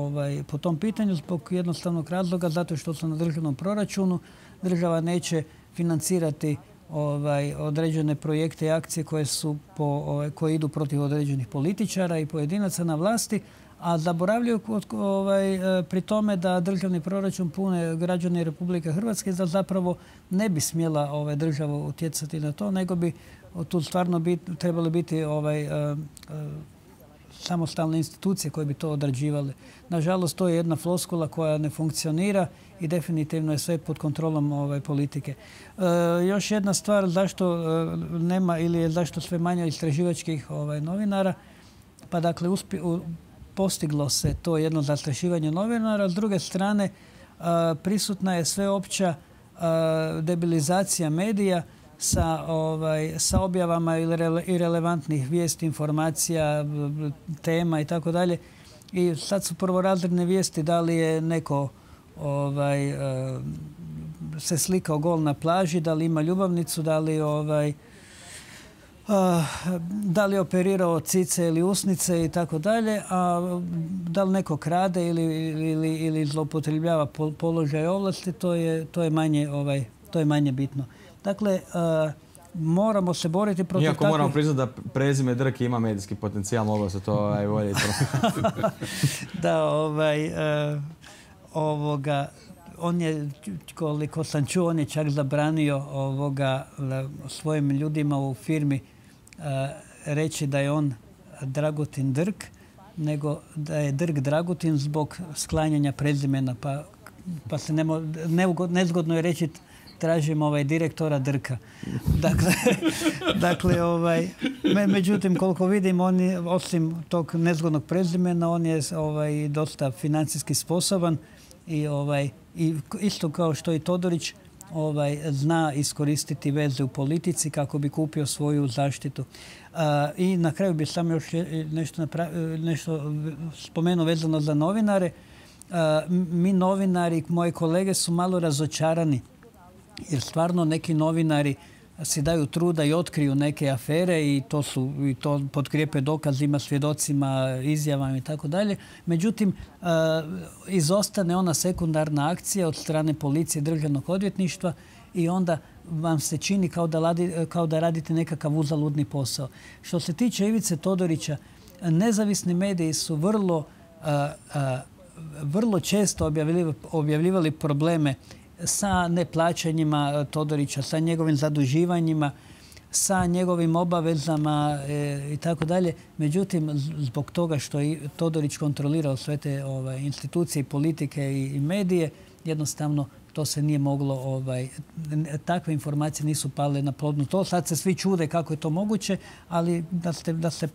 po tom pitanju zbog jednostavnog razloga, zato što su na državnom proračunu. Država neće financirati određene projekte i akcije koje idu protiv određenih političara i pojedinaca na vlasti, a zaboravljaju pri tome da državni proračun pune građani Republike Hrvatske, da zapravo ne bi smjela država utjecati na to, nego bi tu stvarno trebali biti samostalne institucije koje bi to odrađivale. Nažalost, to je jedna floskula koja ne funkcionira i definitivno je sve pod kontrolom politike. Još jedna stvar zašto nema ili je zašto sve manje istraživačkih novinara, pa dakle postiglo se to jedno zastrašivanje novinara. S druge strane, prisutna je sveopća debilizacija medija sa objavama irelevantnih vijesti, informacija, tema i tako dalje. I sad su prvorazredne vijesti da li je neko se slikao gol na plaži, da li ima ljubavnicu, da li je operirao cice ili usnice i tako dalje, a da li neko krade ili zloupotrebljava položaj ovlasti, to je manje bitno. Dakle, moramo se boriti protiv takvih... Iako moramo priznati da prezime Drki ima medijski potencijal, moglo se to voljeti. Da, on je, koliko sam čuo, on je čak zabranio svojim ljudima u firmi reći da je on Dragutin Drk, nego da je Drk Dragutin zbog sklanjanja prezimena. Pa se nezgodno je reći tražim direktora Drka. Međutim, koliko vidim, on je, osim tog nezgodnog prezimena, on je dosta financijski sposoban i isto kao što i Todorić zna iskoristiti veze u politici kako bi kupio svoju zaštitu. I na kraju bih sam još nešto spomenuo vezano za novinare. Mi novinari, moji kolege su malo razočarani jer stvarno neki novinari si daju truda i otkriju neke afere i to potkrijepe dokazima, svjedocima, izjavama i tako dalje. Međutim, izostane ona sekundarna akcija od strane policije, državnog odvjetništva i onda vam se čini kao da radite nekakav uzaludni posao. Što se tiče Ivice Todorića, nezavisni mediji su vrlo često objavljivali probleme sa neplaćanjima Todorića, sa njegovim zaduživanjima, sa njegovim obavezama i tako dalje. Međutim, zbog toga što je Todorić kontrolirao sve te institucije, politike i medije, jednostavno to se nije moglo, takve informacije nisu pale na plodno tlo. Sad se svi čude kako je to moguće, ali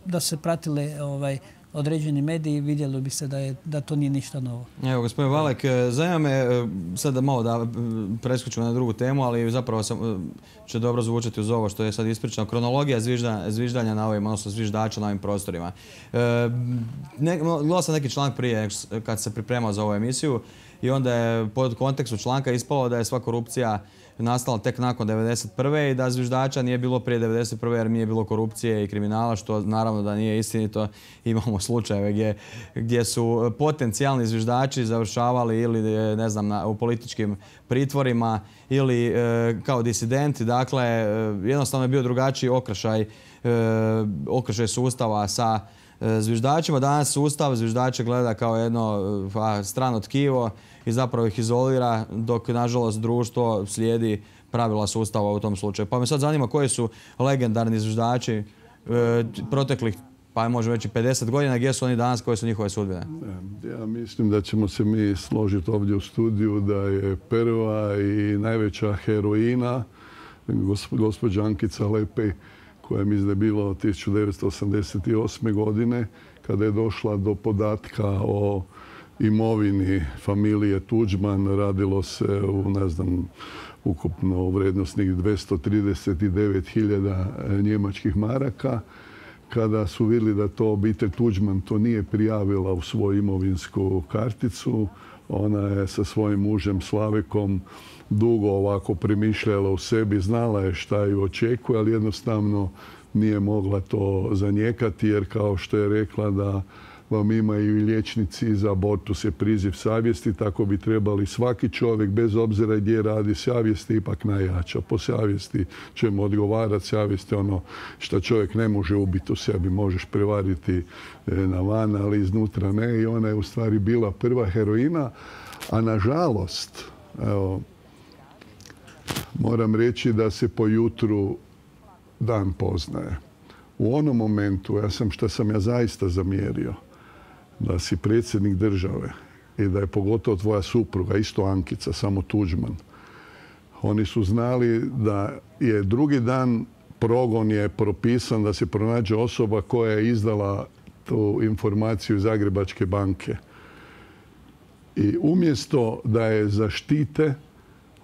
da se pratile određeni mediji, vidjelo bi se da to nije ništa novo. Evo, gospodin Valek, zanima me, sada malo da preskočimo na drugu temu, ali zapravo će dobro zvučati uz ovo što je sad ispričano. Kronologija zviždanja na ovim, odnosno zviždača na ovim prostorima. Gledao sam neki članak prije kad se pripremao za ovu emisiju i onda je pod kontekstu članka ispalo da je sva korupcija nastala tek nakon 1991. i da zviždača nije bilo prije 1991. jer nije bilo korupcije i kriminala, što naravno da nije istinito. Imamo slučajeve gdje su potencijalni zviždači završavali ili ne znam u političkim pritvorima ili kao disidenti. Dakle, jednostavno je bio drugačiji okršaj sustava sa zviždačima. Danas sustav zviždače gleda kao jedno strano tkivo i zapravo ih izolira, dok nažalost društvo slijedi pravila sustava u tom slučaju. Pa me sad zanima koji su legendarni zviždači proteklih, pa možemo reći 50 godina, gdje su oni danas, koje su njihove sudbine? Ja mislim da ćemo se mi složiti ovdje u studiju da je prva i najveća heroina gospođa Ankica Lepej, koja mislim da je bilo 1988. godine, kada je došla do podatka o imovini familije Tuđman. Radilo se u, ne znam, ukupno u vrijednosnih 239.000 njemačkih maraka. Kada su vidjeli da to obitelj Tuđman to nije prijavila u svoju imovinsku karticu, ona je sa svojim mužem Slavekom dugo ovako premišljala u sebi, znala je šta ju očekuje, ali jednostavno nije mogla to zanijekati, jer kao što je rekla da vam imaju i liječnici za abortus je priziv savjesti, tako bi trebali svaki čovjek, bez obzira gdje radi, savjest je ipak najjača. Po savjesti ćemo odgovarati, savjest je ono što čovjek ne može ubiti u sebi, možeš prevariti na van, ali iznutra ne. I ona je u stvari bila prva heroina, a nažalost, evo, moram reći da se po jutru dan poznaje. U onom momentu, što sam ja zaista zamjerio, da si predsjednik države i da je pogotovo tvoja supruga, isto Ankica, samo Tuđman. Oni su znali da je drugi dan progon je propisan da se pronađe osoba koja je izdala tu informaciju iz Zagrebačke banke. I umjesto da je zaštite,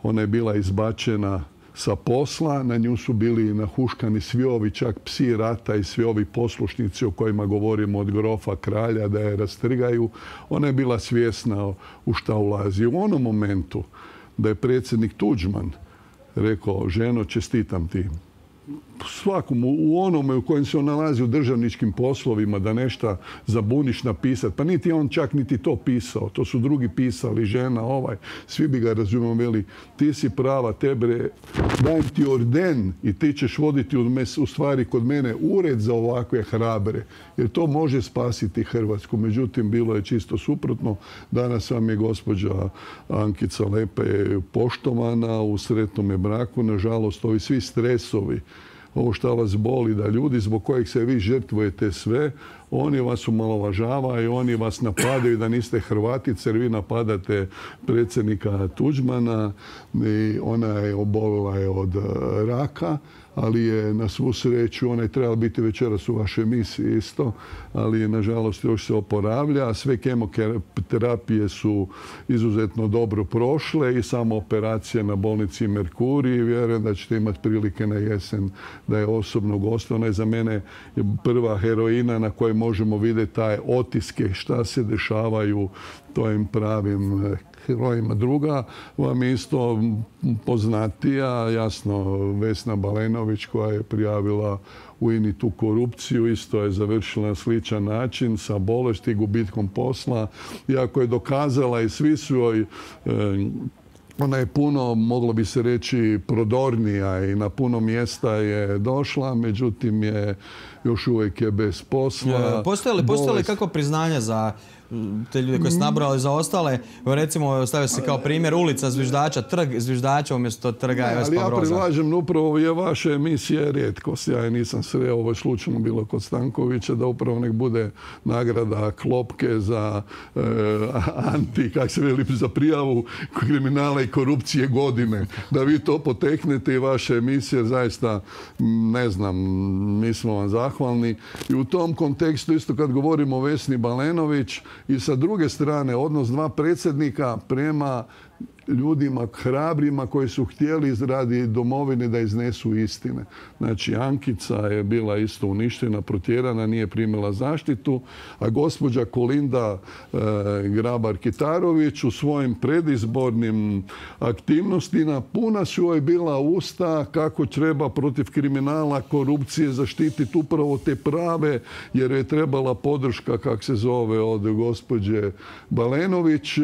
ona je bila izbačena sa posla, na nju su bili nahuškani svi ovi, čak psi rata i svi ovi poslušnici o kojima govorimo od grofa kralja, da je rastrgaju. Ona je bila svjesna u šta ulazi. U onom momentu da je predsjednik Tuđman rekao, ženo, čestitam ti. Svakom u onome u kojem se on nalazi u državničkim poslovima, da nešto zabuniš napisati. Pa niti on čak niti to pisao. To su drugi pisali, žena, svi bi ga razumjeli, veli, ti si prava, tebe, dajem ti orden i ti ćeš voditi u stvari kod mene ured za ovakve hrabre. Jer to može spasiti Hrvatsku. Međutim, bilo je čisto suprotno. Danas vam je gospođa Ankica Lepe poštovana u sretnome braku. Nažalost, ovi svi stresovi, ovo što vas boli, da ljudi zbog kojih se vi žrtvujete sve, oni vas omalovažavaju, oni vas napadaju da niste Hrvatice, jer vi napadate predsjednika Tuđmana i ona je obolila od raka, ali je na svu sreću, ona je trebala biti večeras u vašoj emisiji isto, ali nažalost još se oporavlja. Sve kemoterapije su izuzetno dobro prošle i samo operacija na bolnici Merkurij. Vjerujem da ćete imati prilike na jesen da je osobno gost. Ona je za mene prva heroina na kojoj možemo vidjeti taj otiske šta se dešavaju tojim pravim herojima. Druga vam je isto poznatija, jasno, Vesna Balenović, koja je prijavila u INA-i tu korupciju, isto je završila na sličan način sa bolesti i gubitkom posla. Iako je dokazala i svi su joj, ona je puno, moglo bi se reći, prodornija i na puno mjesta je došla, međutim još uvijek je bez posla. Postoje li kako priznanja za te ljude koje ste nabrali, za ostale? Recimo, stavio se kao primjer ulica Zviždača, trg Zviždača umjesto trga Vespa Broza. Ali ja predlažem, upravo je vaša emisija rijetkost. Ja je nisam sreo, ovo je slučajno bilo kod Stankovića, da upravo nek bude nagrada Klopke za za prijavu kriminala i korupcije godine. Da vi to poteknete i vaša emisija, zaista, ne znam, mi smo vam zahvalni. I u tom kontekstu, isto kad govorimo o Vesni Balenović, i sa druge strane, odnos dva predsjednika prema ljudima hrabrima koji su htjeli radi domovine da iznesu istine. Znači, Ankica je bila isto uništena, protjerana, nije primila zaštitu, a gospođa Kolinda Grabar-Kitarović u svojim predizbornim aktivnostima puna su joj bila usta kako treba protiv kriminala, korupcije zaštititi upravo te prave, jer je trebala podrška, kak se zove, od gospođe Balenović.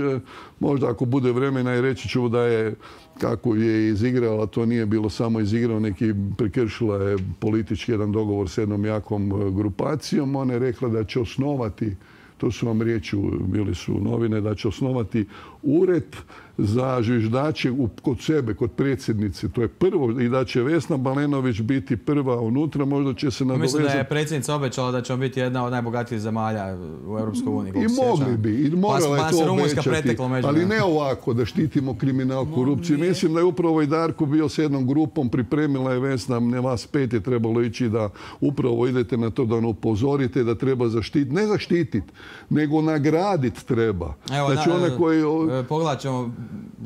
Možda ako bude vremena i reći ću da je, kako je izigrala, to nije bilo samo izigrao, neki prekršila je politički jedan dogovor s jednom jakom grupacijom. Ona je rekla da će osnovati, to su vam riječi, bili su novine, da će osnovati ured za zviždače kod sebe, kod predsjednice. To je prvo, i da će Vesna Balenović biti prva unutra, možda će se nadovezati. Mislim da je predsjednica obećala da ćemo biti jedna od najbogatijih zemalja u Europskoj uniji. I mogli bi, i morala je to obećati, ali ne ovako da štitimo kriminal, korupciju. Mislim da je upravo i Darko bio s jednom grupom, pripremila je Vesna, ne vas 5 je trebalo ići da upravo idete na to da upozorite, da treba zaštititi, ne zaštititi, nego nagraditi treba. Znači one koji... Pogledat ćemo,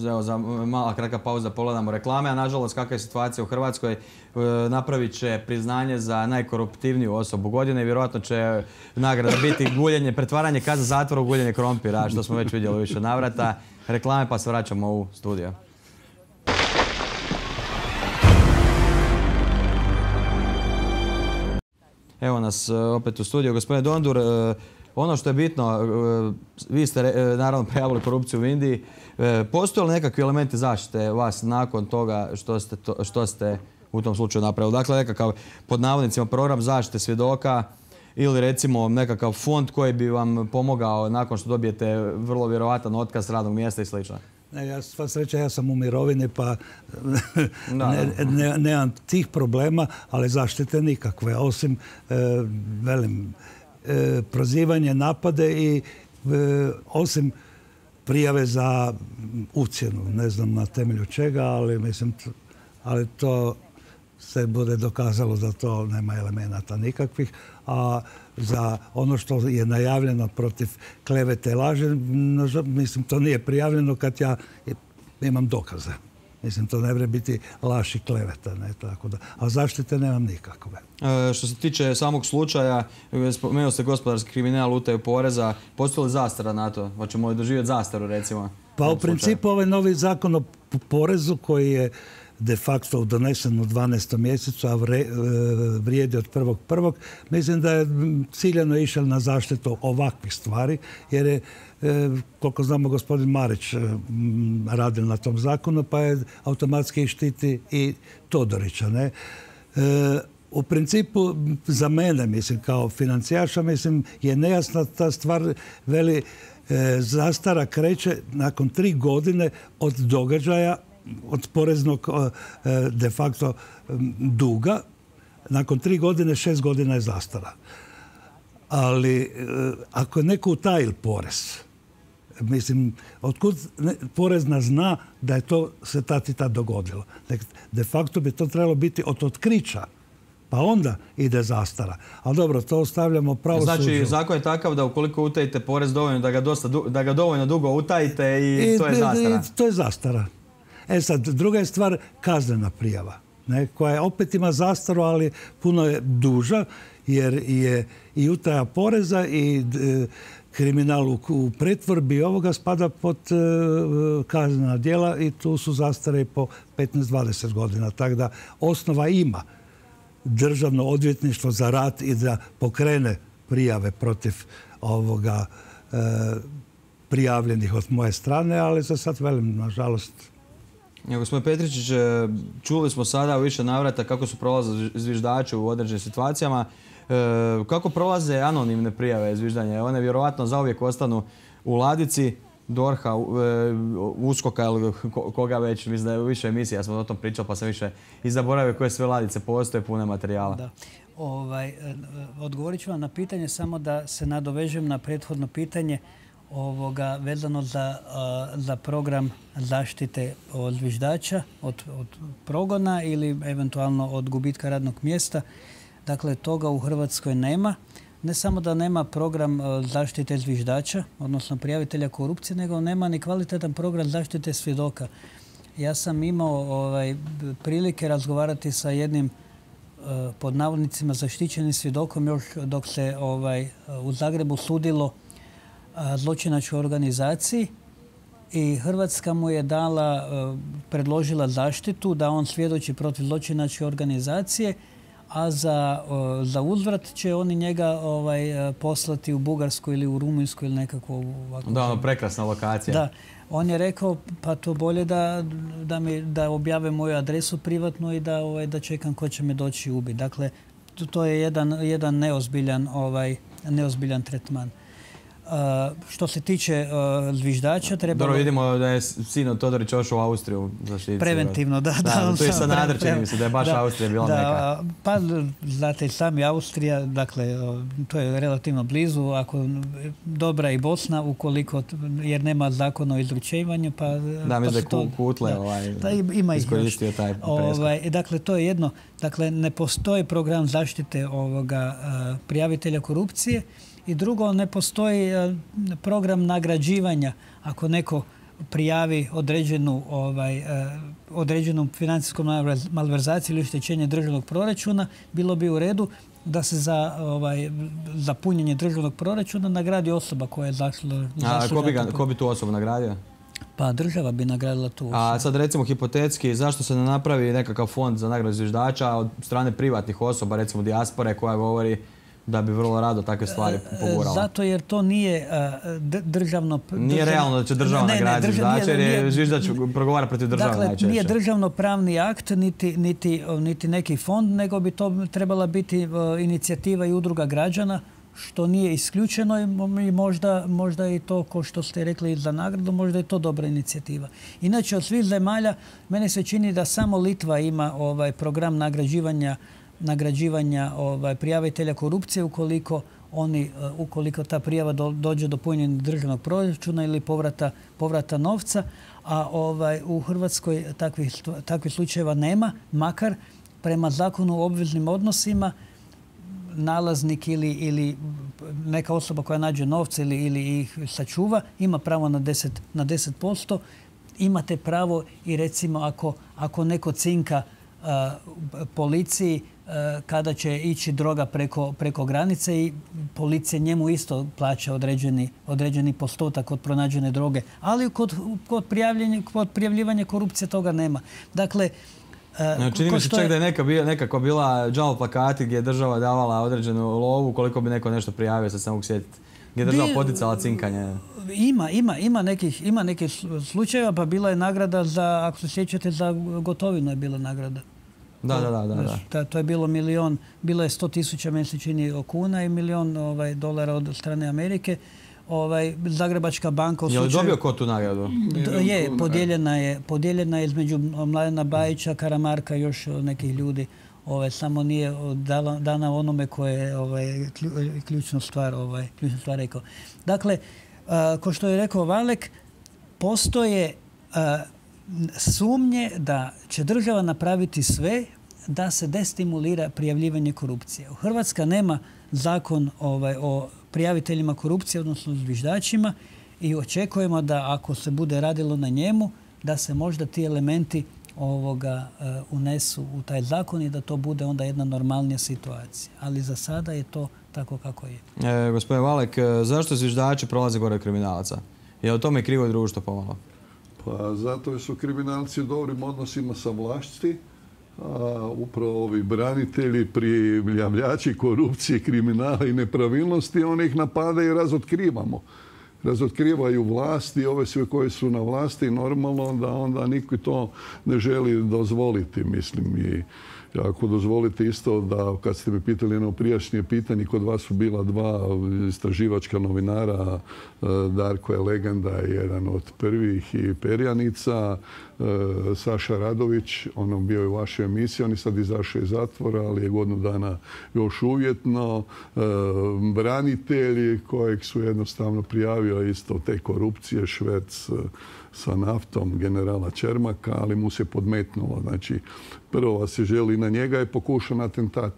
evo, za mala kratka pauza, pogledamo reklame, a nažalost kakva je situacija u Hrvatskoj, napravit će priznanje za najkoruptivniju osobu godine i vjerojatno će nagrada biti guljenje, pretvaranje kazne zatvora u guljenje krompira, što smo već vidjeli više navrata. Reklame, pa se vraćamo u studio. Evo nas opet u studiju. Gospodine Dondur, ono što je bitno, vi ste naravno prijavili korupciju u Indiji. Postoje li nekakvi elementi zaštite vas nakon toga što ste u tom slučaju napravili? Dakle, nekakav, pod navodnicima, program zaštite svjedoka ili recimo nekakav fond koji bi vam pomogao nakon što dobijete vrlo vjerovatan otkaz radnog mjesta i sl. Sva sreća, ja sam u mirovini pa nemam tih problema, ali zaštite nikakve. Osim, prozivanje, napade i osim prijave za ucjenu. Ne znam na temelju čega, ali to se bude dokazalo da to nema elemenata nikakvih. A za ono što je najavljeno protiv klevete i laži, mislim, to nije prijavljeno kad ja imam dokaze. Mislim, to ne može biti laž i kleveta, ne, tako da. A zaštite nemam nikakve. Što se tiče samog slučaja, spomenuo ste gospodarski kriminal, utaju poreza, postoji li zastara na to? Hoćemo li doživjeti zastaru, recimo? Pa u principu ovaj novi zakon o porezu koji je de facto donesen u 12. mjesecu, a vrijedi od 1.1. Mislim da je ciljano išao na zaštitu ovakvih stvari, jer je, koliko znamo, gospodin Marić radil na tom zakonu, pa je automatski štiti i Todorića. Ne? U principu, za mene, mislim, kao financijaša, mislim, je nejasna ta stvar, veli, zastara kreće nakon 3 godine od događaja, od poreznog de facto duga. Nakon 3 godine, 6 godina je zastara. Ali ako je neko utajil porez, mislim, otkud porezna zna da je to se tad i tad dogodilo? De facto bi to trebalo biti od otkrića, pa onda ide zastara. Ali dobro, to ostavljamo pravosuđu. Znači, zakon je takav da ukoliko utajite porez dovoljno, da ga dovoljno dugo utajite i to je zastara. To je zastara. Sad, druga je stvar kaznena prijava, ne, koja opet ima zastaru, ali puno je duža, jer je i utaja poreza i kriminal u pretvorbi ovoga spada pod kaznena djela i tu su zastare po 15-20 godina. Tako da osnova ima državno odvjetništvo za rad i da pokrene prijave protiv ovoga prijavljenih od moje strane, ali za sad velim, nažalost. Gospodin Petričić, čuli smo sada u više navrata kako su prolaze zviždači u određenim situacijama. Kako prolaze anonimne prijave zviždanja? One vjerovatno zauvijek ostanu u ladici DORH-a, USKOK-a ili koga već. Mislim da je u više emisija, ja sam o tom pričao pa sam više i zaboravio koje sve ladice postoje pune materijala. Da. Odgovorit ću vam na pitanje, samo da se nadovežem na prethodno pitanje vezano za program zaštite od zviždača, od progona ili eventualno od gubitka radnog mjesta. Dakle, toga u Hrvatskoj nema. Ne samo da nema program zaštite zviždača, odnosno prijavitelja korupcije, nego nema ni kvalitetan program zaštite svjedoka. Ja sam imao prilike razgovarati sa jednim pod navodnicima zaštićenim svjedokom još dok se u Zagrebu sudilo zločinačkoj organizaciji i Hrvatska mu je predložila zaštitu da on svjedoči protiv zločinačke organizacije, a za uzvrat će oni njega poslati u Bugarsku ili u Rumunjsku ili nekako ovako. Da, prekrasna lokacija. Da. On je rekao, pa to bolje da objave moju adresu privatnu i da čekam ko će me doći ubiti. Dakle, to je jedan neozbiljan tretman. Što se tiče zviždača, treba... Dobro, vidimo da je sino Todorić ošao u Austriju zaštititi. Preventivno, da. To je Sanader, čini mi se da je baš Austrija bila neka. Pa, znate, sami Austrija, dakle, to je relativno blizu, ako dobra i Bosna, jer nema zakona o izručenju, pa... Da, mislim da je Kutle iskoristio taj preskok. Dakle, to je jedno. Dakle, ne postoji program zaštite prijavitelja korupcije I drugo, ne postoji program nagrađivanja. Ako neko prijavi određenu financijsku malverzaciju ili oštećenje državnog proračuna, bilo bi u redu da se za punjenje državnog proračuna nagradi osoba koja je zaslužna. Ko bi tu osobu nagradio? Pa država bi nagradila tu osobu. A sad recimo hipotetski, zašto se ne napravi nekakav fond za nagradu zviždača od strane privatnih osoba, recimo dijaspore koja govori da bi vrlo rado takve stvari pogurala? Zato jer to nije državno... Nije realno da će država nagraditi zviždača jer je zviždač progovara protiv države najčešće. Dakle, nije državno pravni akt niti neki fond, nego bi to trebala biti inicijativa i udruga građana, što nije isključeno i možda i to, ko što ste rekli za nagradu, možda je to dobra inicijativa. Inače, od svih zemalja, mene se čini da samo Litva ima program nagrađivanja prijavitelja korupcije ukoliko ta prijava dođe do punjenja državnog proračuna ili povrata novca, a u Hrvatskoj takvih slučajeva nema, makar prema zakonu o obveznim odnosima nalaznik ili neka osoba koja nađe novce ili ih sačuva ima pravo na 10%. Imate pravo i recimo ako neko cinka policiji kada će ići droga preko granice i policija njemu isto plaća određeni postotak od pronađene droge. Ali kod prijavljivanja korupcije toga nema. Dakle, čini mi se čak da je nekako bila džal plakati gdje je država davala određenu lovu koliko bi neko nešto prijavio, sad se mogu sjetiti. Gdje je država poticala cinkanje. Ima nekih slučajeva, pa bila je nagrada za, ako se sjećate, za Gotovinu je bila nagrada. Da. To je bilo bilo je 100.000, meni se čini, kuna i $1.000.000 od strane Amerike. Zagrebačka banka... Je li dobio ko tu nagradu? Je, podijeljena je između Mladena Bajića, Karamarka i još nekih ljudi. Samo nije dana onome koje je ključnu stvar rekao. Dakle, ko što je rekao Valek, postoje sumnje da će država napraviti sve da se destimulira prijavljivanje korupcije. Hrvatska nema zakon o prijaviteljima korupcije, odnosno zviždačima, i očekujemo da ako se bude radilo na njemu, da se možda ti elementi unesu u taj zakon i da to bude onda jedna normalnija situacija. Ali za sada je to tako kako je. Gospodin Valek, zašto zviždači prolaze gore od kriminalaca? Je li tome krivo društvo pomalo? Pa zato su kriminalci u dobrim odnosima sa vlasti, a upravo ovi branitelji, prijavljači korupcije, kriminala i nepravilnosti, oni ih napadaju i razotkrivamo. Razotkrivaju vlasti, ove sve koje su na vlasti, normalno da onda niko to ne želi dozvoliti, mislim. I ako dozvolite isto da, kad ste me pitali jedno prijašnje pitanje, kod vas su bila dva istraživačka novinara, Darko je legenda, jedan od prvih, i perjanica, Saša Radović, on bio je u vašoj emisiji, on je sad izašao iz zatvora, ali je godinu dana još uvjetno. Branitelji kojeg su jednostavno prijavio isto te korupcije, šverc sa naftom generala Čermaka, ali mu se podmetnulo. Znači, prvo se želi na njega je pokušan atentat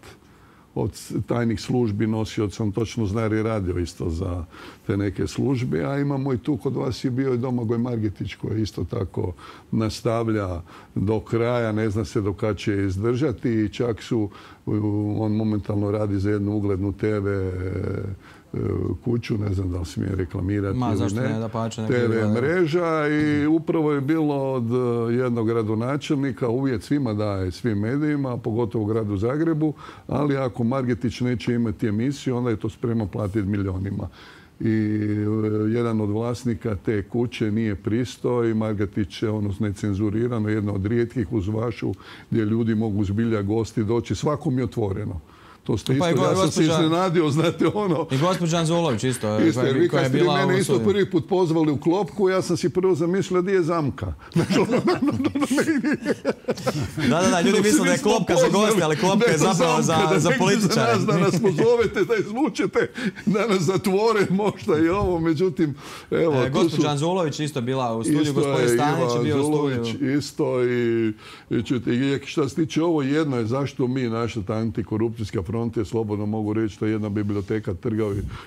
od tajnih službi, nosioca, on točno zna jer je radio isto za te neke službe, a imamo i tu kod vas je bio i Domagoj Margetić koji isto tako nastavlja do kraja, ne zna se do kada će izdržati i čak su, on momentalno radi za jednu uglednu TV kuću, ne znam da li smije reklamirati ili ne, TV mreža, i upravo je bilo od jednog gradonačelnika, uvjet svima daje, svim medijima, pogotovo u gradu Zagrebu, ali ako Margetić neće imati emisiju, onda je to spremno platiti milionima. I jedan od vlasnika te kuće nije pristao i Margetić je necenzurirano, jedna od rijetkih uz vašu gdje ljudi mogu zbilja gosti doći, svakom je otvoreno. To ste isto, ja sam se iznenadio, znate ono... I gospođa Anzulović isto. Vi kad ste mene isto prvi put pozvali u klopku, ja sam si prvo zamislio gdje je zamka. Da, ljudi misle da je klopka za goste, ali klopka je zapravo za političare. Da nas pozovete, da izvučete, da nas zatvore možda i ovo, međutim... Gospođa Anzulović isto bila u studiju, gospodin Stanić je bio u studiju. Isto i što se tiče ovo, jedno je zašto mi, naša ta antikorupcijska fronte, slobodno mogu reći, to je jedna biblioteka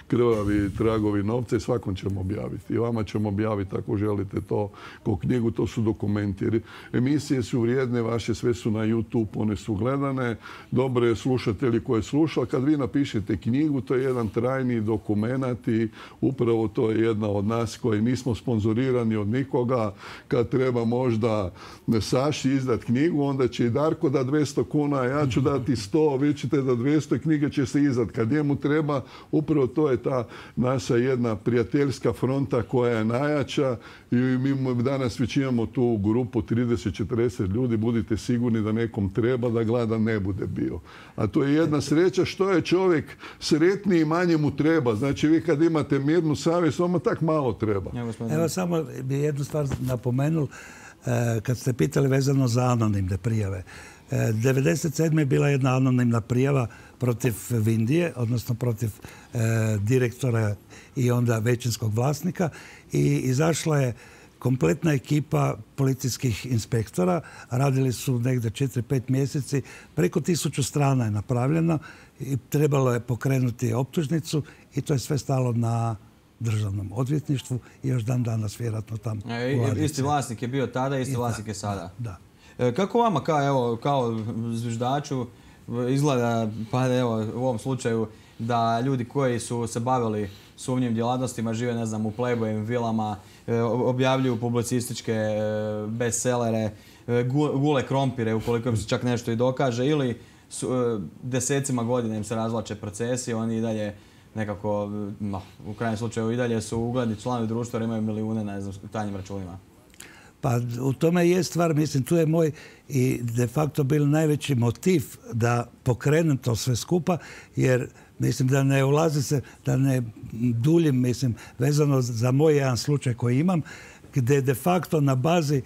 krvavi tragovi novca i svakom ćemo objaviti. I vama ćemo objaviti ako želite to kao knjigu, to su dokumenti. Jer emisije su vrijedne, vaše sve su na YouTube, one su gledane, dobro je slušatelji koje slušali. Kad vi napišete knjigu, to je jedan trajni dokumenat i upravo to je jedna od nas koji nismo sponzorirani od nikoga. Kad treba možda Saši izdat knjigu, onda će i Darko da 200 kuna, ja ću dati 100, vi ćete da 200, knjige će se izdat. Kad njemu treba, upravo to je ta naša jedna prijateljska fronta koja je najjača i mi danas već imamo tu grupu 30-40 ljudi, budite sigurni da nekom treba da gleda ne bude bio. A to je jedna sreća što je čovjek sretniji i manje mu treba. Znači vi kad imate mirnu savjest, vama tak malo treba. Evo samo bi jednu stvar napomenul, kad ste pitali vezano za anonimne prijave. 1997. je bila jedna anonimna prijava protiv Vindije, odnosno protiv direktora i onda većinskog vlasnika i izašla je kompletna ekipa policijskih inspektora. Radili su negdje 4-5 mjeseci. Preko 1000 strana je napravljeno i trebalo je pokrenuti optužnicu i to je sve stalo na državnom odvjetništvu i još dan danas vjerojatno tamo. Isti vlasnik je bio tada, isti vlasnik je sada. Da. Kako vama kao zviždaču izgleda, pa evo u ovom slučaju, da ljudi koji su se bavili sumnjivim djelatnostima žive, ne znam, u Playboyim vilama, objavljuju publicističke bestsellere, gule krompire ukoliko im se čak nešto i dokaže, ili desecima godina im se razvlače procesi, oni i dalje nekako, u krajnjem slučaju i dalje su ugledni članovi društva jer imaju milijune na tajnim računima. Pa u tome je stvar, mislim, tu je moj i de facto bil najveći motiv da pokrenem to sve skupa, jer mislim da ne ulazi se, da ne duljim, mislim, vezano za moj jedan slučaj koji imam, gdje de facto na bazi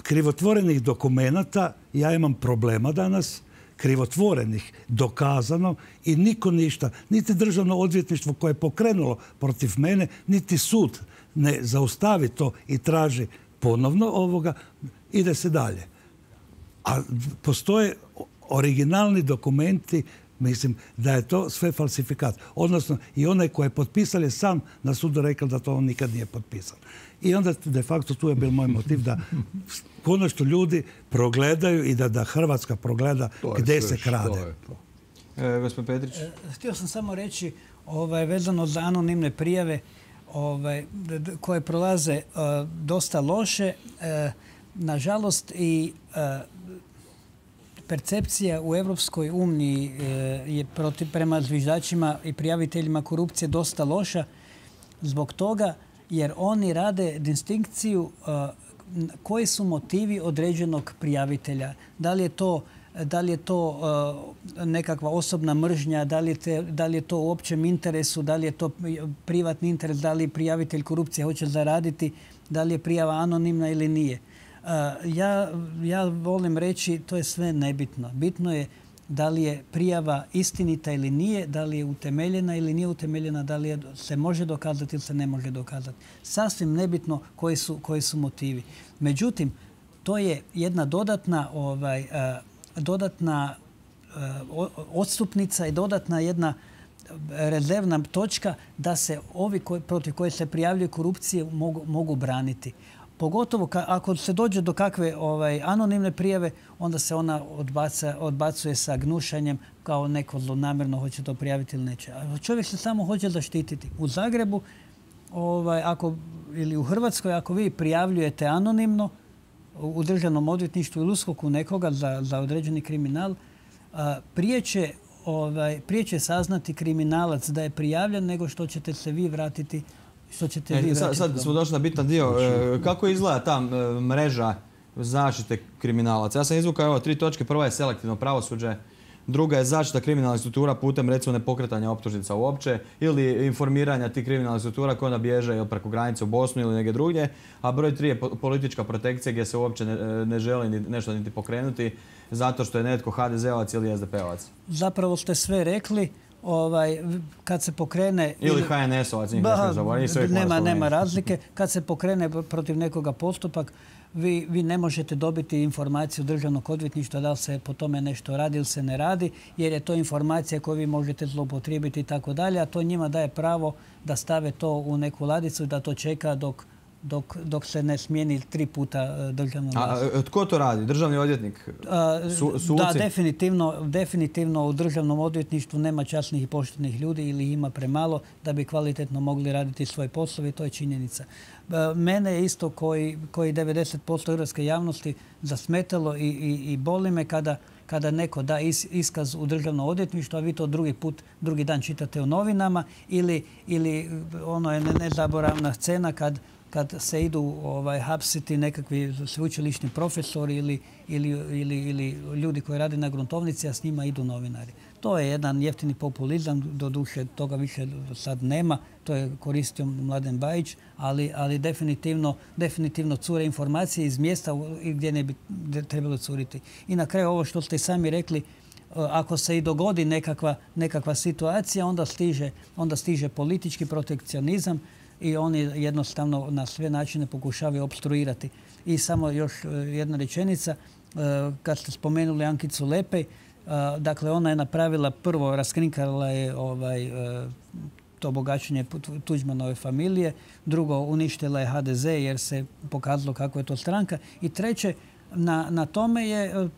krivotvorenih dokumenata ja imam problema danas, krivotvorenih, dokazano i niko ništa, niti državno odvjetništvo koje je pokrenulo protiv mene, niti sud ne zaustavi to i traži ponovno ovoga, ide se dalje. A postoje originalni dokumenti, mislim da je to sve falsifikat. Odnosno i onaj koji je potpisal je sam na sudu rekao da to on nikad nije potpisan. I onda de facto tu je bil moj motiv da konačno ljudi progledaju i da Hrvatska progleda gdje se krade. Gospodin Petrić? Htio sam samo reći vezano za anonimne prijave koje prolaze dosta loše. Nažalost i percepcija u Europskoj uniji je prema zviždačima i prijaviteljima korupcije dosta loša zbog toga jer oni rade distinkciju koji su motivi određenog prijavitelja. Da li je to nekakva osobna mržnja, da li je to u općem interesu, da li je to privatni interes, da li prijavitelj korupcije hoće zaraditi, da li je prijava anonimna ili nije. Ja volim reći, to je sve nebitno. Bitno je da li je prijava istinita ili nije, da li je utemeljena ili nije utemeljena, da li se može dokazati ili se ne može dokazati. Sasvim nebitno koji su motivi. Međutim, to je jedna dodatna odstupnica i dodatna jedna rezervna točka da se ovi protiv koje se prijavljuju korupcije mogu braniti. Pogotovo ako se dođe do kakve anonimne prijave, onda se ona odbacuje sa gnušanjem kao neko zlonamjerno hoće to prijaviti ili neće. A čovjek se samo hoće zaštititi. U Zagrebu ili u Hrvatskoj, ako vi prijavljujete anonimno u državnom odvjetništvu ili USKOK-u nekoga za određeni kriminal, prije će saznati kriminalac da je prijavljen nego što ćete se vi vratiti. Sad smo došli na bitan dio. Kako izgleda ta mreža zaštite kriminalaca? Ja sam izvukao 3 točke. Prva je selektivno pravosuđe, druga je zaštita kriminalnih struktura putem recimo nepokretanja optužnica uopće ili informiranja tih kriminalnih struktura koje onda bježe preko granice u Bosnu ili negdje drugdje, a broj 3 je politička protekcija gdje se uopće ne želi nešto niti pokrenuti zato što je netko HDZ-ovac ili SDP-ovac. Zapravo ste sve rekli. Kad se pokrene... Ili HNS-ovac, njih ne smije zaboraviti. Nema razlike. Kad se pokrene protiv nekoga postupak, vi ne možete dobiti informaciju državnog odvjetništva da li se po tome nešto radi ili se ne radi, jer je to informacija koju vi možete zloupotrijebiti i tako dalje, a to njima daje pravo da stave to u neku ladicu i da to čeka dok se ne smijeni 3 puta državnom vlast. A tko to radi? Državni odvjetnik? Suci? Da, definitivno u državnom odvjetništvu nema časnih i poštenih ljudi ili ima premalo da bi kvalitetno mogli raditi svoj posao i to je činjenica. Mene je isto koji 90% hrvatske javnosti zasmetalo i boli me kada neko da iskaz u državno odvjetništvo, a vi to drugi dan čitate u novinama ili ono je nezaboravna scena kad se idu hapsiti nekakvi sveučilišni profesori ili ljudi koji rade na gruntovnici, a s njima idu novinari. To je jedan jeftini populizam, doduše toga više sad nema, to je koristio Mladen Bajić, ali definitivno cure informacije iz mjesta gdje ne bi trebalo curiti. I na kraju ovo što ste sami rekli, ako se i dogodi nekakva situacija, onda stiže politički protekcionizam i oni jednostavno na sve načine pokušavaju opstruirati. I samo još jedna rečenica, kad ste spomenuli Ankicu Lepej, dakle ona je napravila prvo, raskrinkala je to bogaćenje Tuđmanove familije, drugo uništila je HDZ jer se pokazalo kako je to stranka i treće, na tome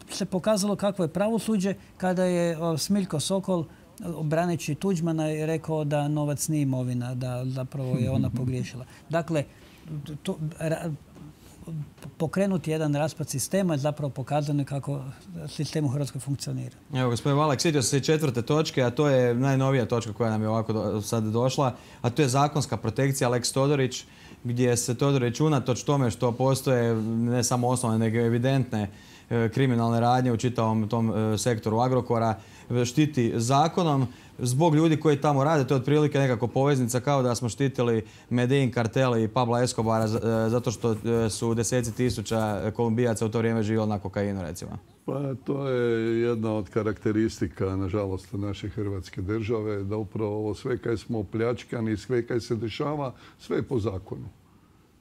se pokazalo kako je pravosuđe kada je Smiljko Sokol braneći Tuđmana je rekao da novac nije imovina, da zapravo je ona pogriješila. Dakle, pokrenuti jedan raspad sistema je zapravo pokazano kako sistem u Hrvatskoj funkcionira. Evo, gospodin Valak, sjetio se i 4. točke, a to je najnovija točka koja nam je ovako sad došla, a to je zakonska protekcija Lex Todorić, gdje se Todorić unatoč tome što postoje ne samo osnovne, nego evidentne kriminalne radnje u čitavom tom sektoru Agrokora, štiti zakonom zbog ljudi koji tamo rade. To je otprilike nekako poveznica kao da smo štitili Medellin kartel i Pabla Escobara zato što su deseci tisuća Kolumbijaca u to vrijeme živjeli na kokainu, recimo. Pa to je jedna od karakteristika, nažalost, naše Hrvatske države, da upravo ovo sve kaj smo opljačkani, sve kaj se dešava, sve je po zakonu.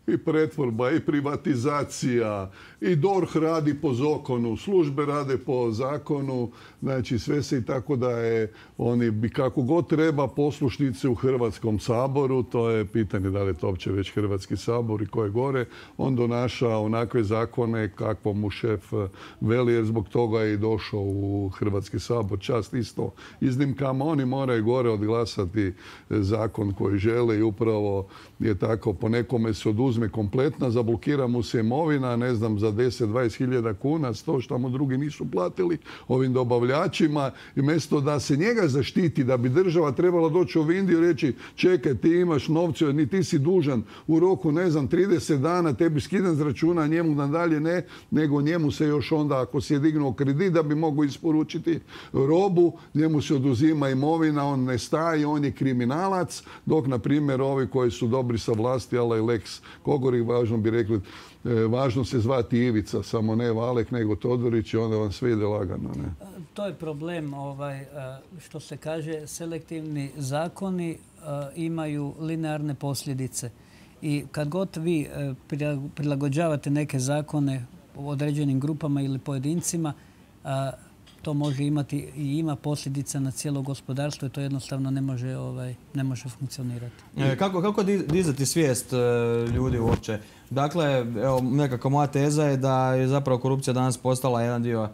I pretvorba, i privatizacija, i DORH radi po zakonu, službe rade po zakonu, znači sve se i tako da je, oni bi kako god treba poslušnice u Hrvatskom saboru, to je pitanje da li je to uopće već Hrvatski sabor i ko je gore, on donaša onakve zakone kakvo mu šef veli, jer zbog toga je i došao u Hrvatski sabor. Čast isto iznimkama, oni moraju gore odglasati zakon koji žele i upravo je tako, po nekome se oduzme kompletna, zablokira mu se imovina, ne znam, za 10-20 hiljada kuna, to što mu drugi nisu platili ovim dobavljačima, i mjesto da se njega zaštiti, da bi država trebala doći u Indiju i reći čekaj, ti imaš novce, ni ti si dužan u roku, ne znam, 30 dana, tebi skidan s računa, njemu nadalje ne, nego njemu se još onda, ako si je dignuo kredit da bi mogao isporučiti robu, njemu se oduzima imovina, on ne staje, on je kriminalac, dok, na primjer, ovi koji su dobri sa vlasti, ali i Lex Kogori, važno bi rekli, važno se zvati Ivica, samo ne Valek, nego Todorić i onda vam sve ide lagano. Ne? To je problem, što se kaže, selektivni zakoni imaju linearne posljedice. I kad god vi prilagođavate neke zakone određenim grupama ili pojedincima, to može imati i ima posljedica na cijelo gospodarstvo i to jednostavno ne može funkcionirati. Kako dizati svijest ljudi uopće? Dakle, evo, nekako moja teza je da je zapravo korupcija danas postala jedan dio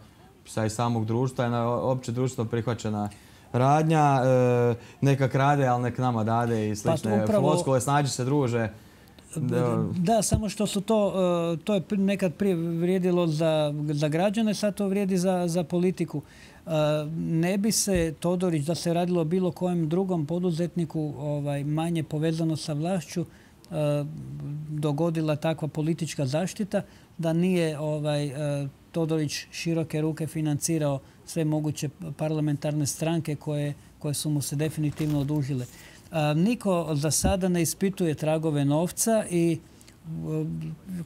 i samog društva, jedna opće društveno prihvaćena radnja, neka krade, ali nek nama dade i slične floskule, snađi se druže. Da, samo što su to je nekad prije vrijedilo za građane, sad to vrijedi za politiku. Ne bi se Todorić, da se radilo bilo kojem drugom poduzetniku manje povezano sa vlašću, dogodila takva politička zaštita, da nije Todorić široke ruke financirao sve moguće parlamentarne stranke koje su mu se definitivno odužile. Niko za sada ne ispituje tragove novca i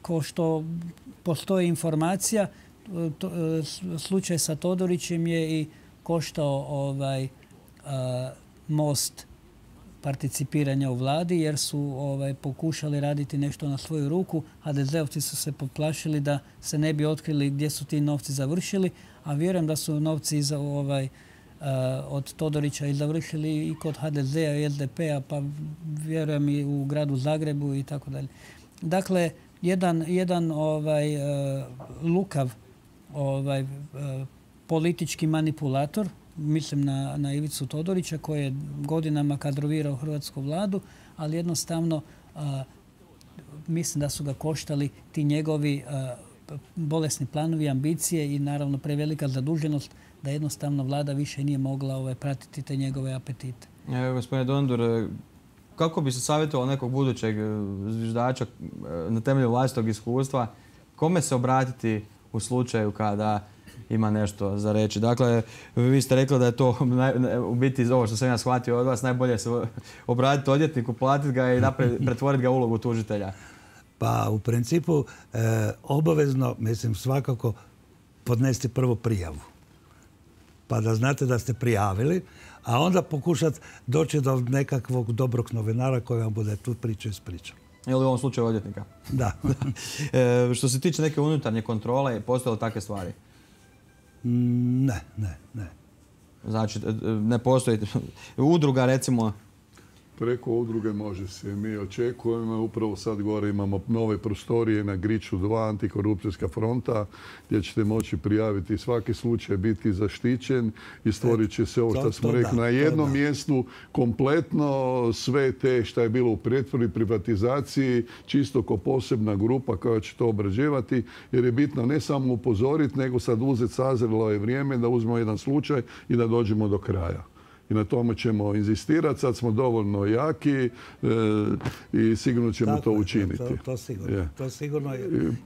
ko što postoji informacija, slučaj sa Todorićem je i koštao Most participiranja u vladi jer su pokušali raditi nešto na svoju ruku. HDZ-ovci su se poplašili da se ne bi otkrili gdje su ti novci završili, a vjerujem da su novci od Todorića i završili i kod HDZ-a i SDP-a, pa vjerujem i u gradu Zagrebu i tako dalje. Dakle, jedan lukav politički manipulator, mislim na Ivicu Todorića koji je godinama kadrovirao hrvatsku vladu, ali jednostavno mislim da su ga koštali ti njegovi bolesni planovi, ambicije i naravno prevelika zaduženost da jednostavno vlada više nije mogla pratiti te njegove apetite. Gospodine Dondur, kako bi se savjetovao nekog budućeg zviždača na temelju vlastitog iskustva, kome se obratiti u slučaju kada ima nešto za reći? Dakle, vi ste rekli da je to u biti ovo što sam ja shvatio od vas, najbolje se obratiti odvjetniku, platiti ga i pretvoriti ga u ulogu tužitelja. Pa u principu obavezno, mislim svakako, podnesti prvo prijavu. Pa da znate da ste prijavili, a onda pokušati doći do nekakvog dobrog novinara koji vam bude tu priču ispričao. Ili u ovom slučaju odvjetnika? Da. Što se tiče neke unutarnje kontrole, postoje li takve stvari? Ne. Znači, ne postoji udruga, recimo? Preko udruge može se. Mi očekujemo, upravo sad gore imamo nove prostorije na Griču 2, antikorupcijska fronta, gdje ćete moći prijaviti svaki slučaj, biti zaštićen i stvorit će se ovo što smo rekli na jednom mjestu kompletno sve te što je bilo u pretvorbi, privatizaciji, čisto kao posebna grupa koja će to obrađivati, jer je bitno ne samo upozoriti, nego sad uzeti, sazrelo je vrijeme da uzmemo jedan slučaj i da dođemo do kraja. I na tome ćemo inzistirati. Sad smo dovoljno jaki i sigurno ćemo to učiniti. To sigurno.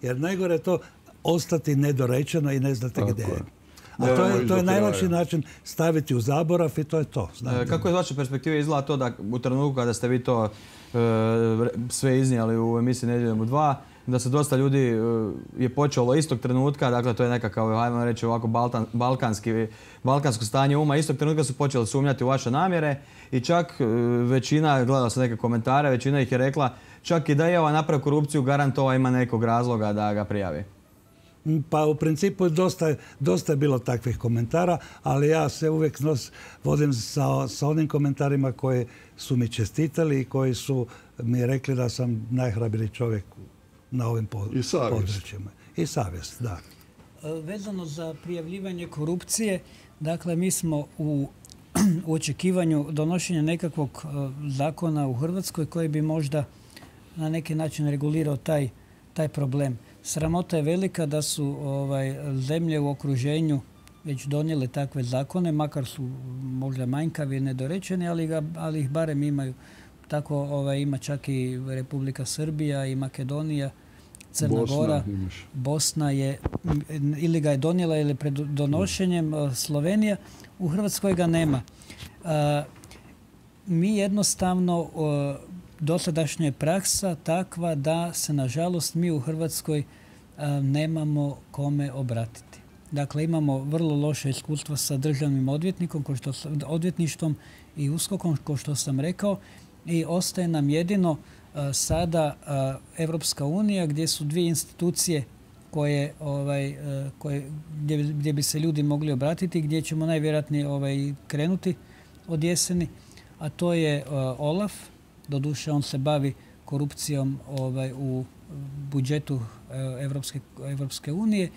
Jer najgore je to ostati nedorečeno i ne znate gdje je. A to je najlakši način staviti u zaborav i to je to. Kako je iz vaše perspektive izgleda to da u trenutku kada ste vi to sve iznijeli u emisiji Nedjeljom u 2, da se dosta ljudi je počelo istog trenutka, dakle to je nekakav, ajmo reći ovako, balkansko stanje uma, istog trenutka su počeli sumnjati u vaše namjere i čak većina, gledao sam neke komentare, većina ih je rekla čak i da je napravio korupciju, garant ima nekog razloga da ga prijavi. Pa u principu dosta je bilo takvih komentara, ali ja se uvijek vodim sa onim komentarima koji su mi čestitali i koji su mi rekli da sam najhrabriji čovjek na ovim područjima. I savjest, da. Vezano za prijavljivanje korupcije, dakle mi smo u očekivanju donošenja nekakvog zakona u Hrvatskoj koji bi možda na neki način regulirao taj problem. Sramota je velika da su zemlje u okruženju već donijele takve zakone, makar su možda manjkavi i nedorečeni, ali ih barem imaju. Tako ima čak i Republika Srbija i Makedonija, Crna Gora, Bosna je ili ga je donijela ili pred donošenjem, Slovenija. U Hrvatskoj ga nema. Mi jednostavno, dosadašnja je praksa takva da se nažalost mi u Hrvatskoj nemamo kome obratiti. Dakle, imamo vrlo loše iskustva sa državnim odvjetništvom i USKOK-om, kao što sam rekao, i ostaje nam jedino sada Evropska unija gdje su dvije institucije gdje bi se ljudi mogli obratiti, gdje ćemo najvjerojatnije krenuti od jeseni, a to je OLAF. Doduše, on se bavi korupcijom u budžetu Evropske unije.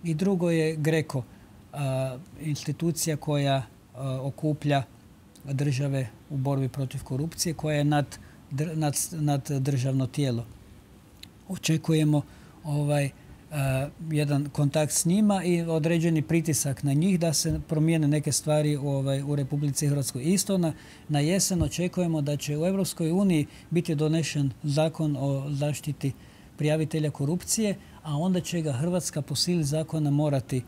I drugo je GRECO, institucija koja okuplja države u borbi protiv korupcije, koja je naddržavno tijelo. Očekujemo jedan kontakt s njima i određeni pritisak na njih da se promijene neke stvari u Republici Hrvatskoj. Isto na jesen očekujemo da će u Europskoj uniji biti donešen zakon o zaštiti prijavitelja korupcije, a onda će ga Hrvatska po sili zakona morati...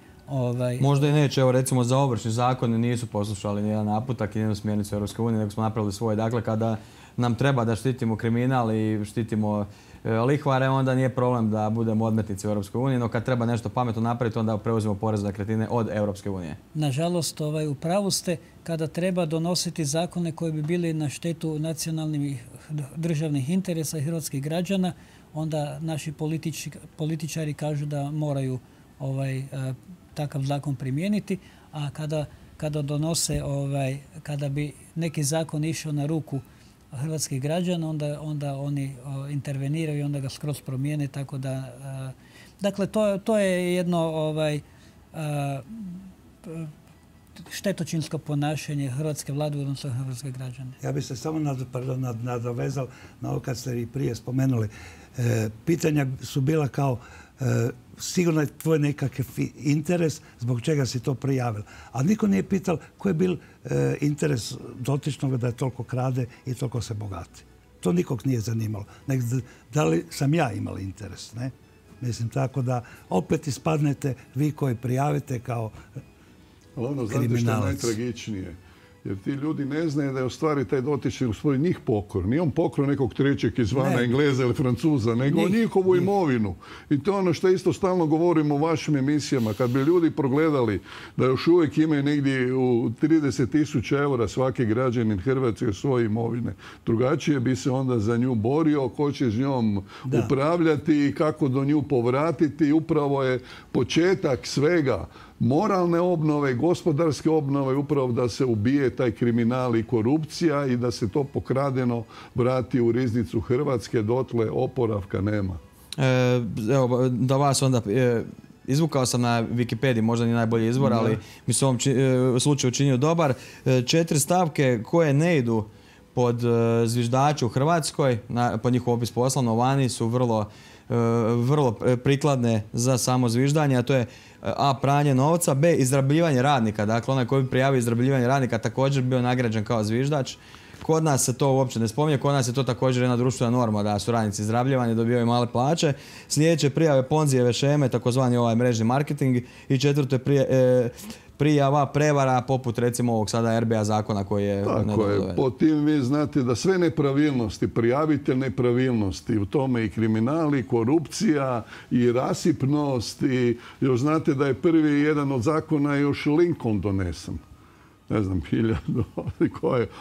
Možda i neće, evo recimo za ovršni zakon nisu poslušali nijedan naputak i nijednu smjernicu Europske unije, nego smo napravili svoje. Dakle, kada nam treba da štitimo kriminal i štitimo lihvare, onda nije problem da budemo odmetnici u Europskoj uniji, no kad treba nešto pametno napraviti, onda preuzimo porez na nekretnine od Europske unije. Nažalost, u pravu ste, kada treba donositi zakone koji bi bili na štetu nacionalnih državnih interesa i hrvatskih građana, onda naši političari kažu da moraju takav zakon primijeniti, a kada donose, kada bi neki zakon išao na ruku hrvatskih građana, onda oni interveniraju i onda ga skroz promijene, tako da... Dakle, to je jedno štetočinsko ponašanje hrvatske vlade odnosno hrvatske građane. Ja bih se samo nadovezao na ovo kad ste i prije spomenuli. Pitanja su bila kao sigurno je tvoj nekakav interes zbog čega si to prijavil. A niko nije pitao koji je bil interes dotičnog da je toliko krade i toliko se bogati. To nikog nije zanimalo. Da li sam ja imala interes, ne? Mislim, tako da opet ispadnete vi koji prijavite kao kriminalac. Znate što je najtragičnije? Jer ti ljudi ne znaju da je u stvari taj dotični u svoj njih pokor. Nije on pokor nekog trećeg izvana, Engleza ili Francuza, nego njihovu imovinu. I to je ono što isto stalno govorimo u vašim emisijama. Kad bi ljudi progledali da još uvijek imaju negdje u 30.000 eura svaki građanin Hrvatske svoje imovine, drugačije bi se onda za nju borio, ko će s njom upravljati i kako do nju povratiti. Upravo je početak svega moralne obnove, gospodarske obnove, upravo da se ubije taj kriminal i korupcija i da se to pokradeno vrati u riznicu Hrvatske, dotle oporavka nema. Evo, da vas onda... Izvukao sam na Wikipediji, možda nije najbolji izvor, ali mi se u ovom slučaju učinio dobar. 4 stavke koje ne idu pod zviždače u Hrvatskoj, pod njihov opis posla, no vani su vrlo prikladne za samo zviždanje, a to je A. pranje novca, B. izrabljivanje radnika. Dakle, onaj koji bi prijavio izrabljivanje radnika također bio nagrađen kao zviždač. Kod nas se to uopće ne spominje, kod nas je to također jedna društvena norma da su radnici izrabljivani, dobivaju male plaće. Sljedeće prijave ponzijeve šeme, takozvani mrežni marketing, i četvrto je prijava prevara poput recimo ovog sada RBA zakona koji je... Tako je, po tim vi znate da sve nepravilnosti, prijavite nepravilnosti, u tome i kriminal, i korupcija, i rasipnost, i još znate da je prvi jedan od zakona još Lincoln donesen. Ne znam,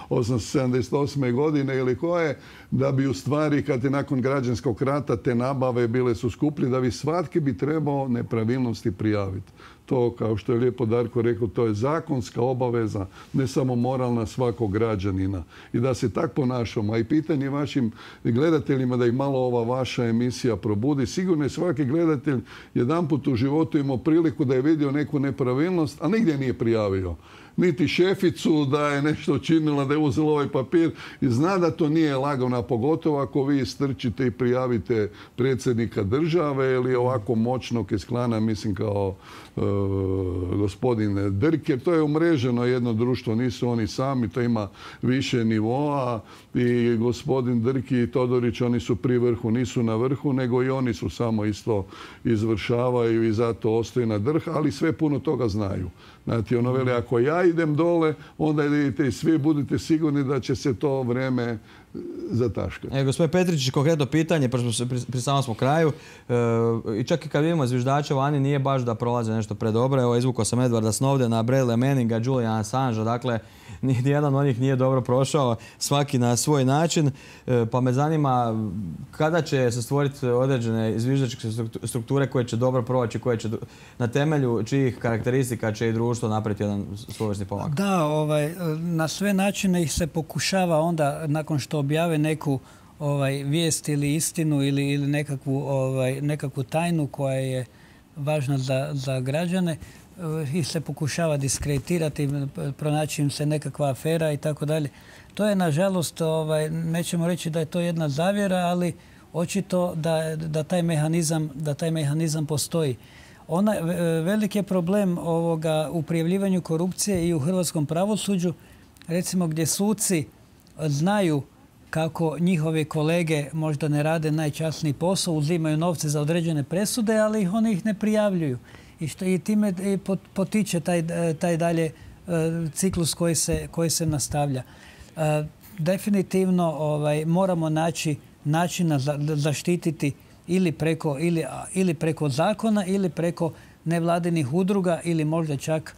878. godine ili koje, da bi u stvari, kad je nakon građanskog rata te nabave bile su skuplje, da bi svatki bi trebao nepravilnosti prijaviti. To, kao što je lijepo Darko rekao, to je zakonska obaveza, ne samo moralna svakog građanina. I da se tak ponašamo. A i pitanje vašim gledateljima da ih malo ova vaša emisija probudi. Sigurno je svaki gledatelj jedanput u životu imao priliku da je vidio neku nepravilnost, a nigdje nije prijavio. Niti šeficu da je nešto činila, da je uzela ovaj papir i zna da to nije lagano, pogotovo ako vi strčite i prijavite predsjednika države ili ovako moćnog iz klana, mislim kao gospodin Drk, jer to je umreženo jedno društvo, nisu oni sami, to ima više nivoa i gospodin Drk i Todorić, oni su pri vrhu, nisu na vrhu, nego i oni su samo isto izvršavaju i zato ostaju na drh, ali sve puno toga znaju. Znate, ono veli, ako ja idem dole, onda idete i svi, budite sigurni da će se to vreme zataškati. Gospodin Petričić, konkretno pitanje, pri samom smo kraju, i čak i kad vidimo zviždača vani, nije baš da prolaze nešto predobro. Evo, izvukao sam Edwarda Snowdena, Bradley Manninga, Juliana Assangea, dakle, nijedan od njih nije dobro prošao, svaki na svoj način, pa me zanima kada će se stvoriti određene zviždačke strukture koje će dobro proći, koje će na temelju čijih karakteristika će i društvo napraviti jedan svojevrsni pomak. Da, na sve načine ih se pokušava onda, nakon što objave neku vijest ili istinu ili nekakvu tajnu koja je važna za građane, ih se pokušava diskreditirati, pronaći im se nekakva afera i tako dalje. To je, nažalost, nećemo reći da je to jedna zavjera, ali očito da taj mehanizam postoji. Veliki je problem u prijavljivanju korupcije i u hrvatskom pravosuđu, recimo gdje suci znaju kako njihovi kolege možda ne rade najčasniji posao, uzimaju novce za određene presude, ali oni ih ne prijavljuju. I time potiče taj dalje ciklus koji se nastavlja. definitivno moramo naći načina zaštititi ili preko zakona ili preko nevladinih udruga ili možda čak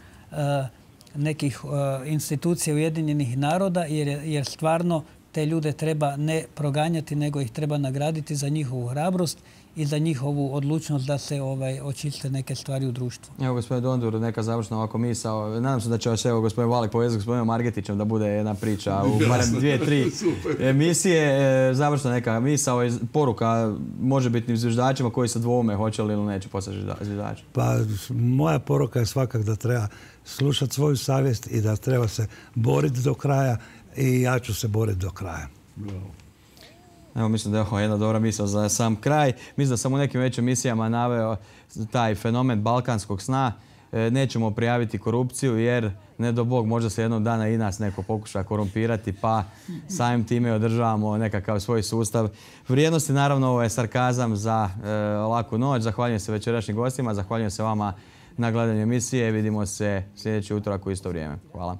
nekih institucija Ujedinjenih naroda, jer stvarno te ljude treba ne proganjati, nego ih treba nagraditi za njihovu hrabrost i za njihovu odlučnost da se očiste neke stvari u društvu. Evo, gospodin Dondur, neka završna ovako misao. Nadam se da će vas gospodin Valik povezati s gospodinom Margetićem da bude jedna priča u barem 2-3 emisije. Završna neka misao i poruka možebitnim zviždačima koji se dvoume hoće li ili neće postati zviždači. Pa moja poruka je svakak da treba slušati svoju savjest i da treba se boriti do kraja i ja ću se boriti do kraja. Evo, mislim da je ovo jedna dobra misao za sam kraj. Mislim da sam u nekim većim emisijama naveo taj fenomen balkanskog sna. Nećemo prijaviti korupciju jer, ne do Bog, možda se jednog dana i nas neko pokuša korumpirati, pa samim time održavamo nekakav svoj sustav vrijednosti. Naravno, ovo je sarkazam za laku noć. Zahvaljujem se večerašnjim gostima, zahvaljujem se vama na gledanju emisije. Vidimo se sljedeći utorak u isto vrijeme. Hvala.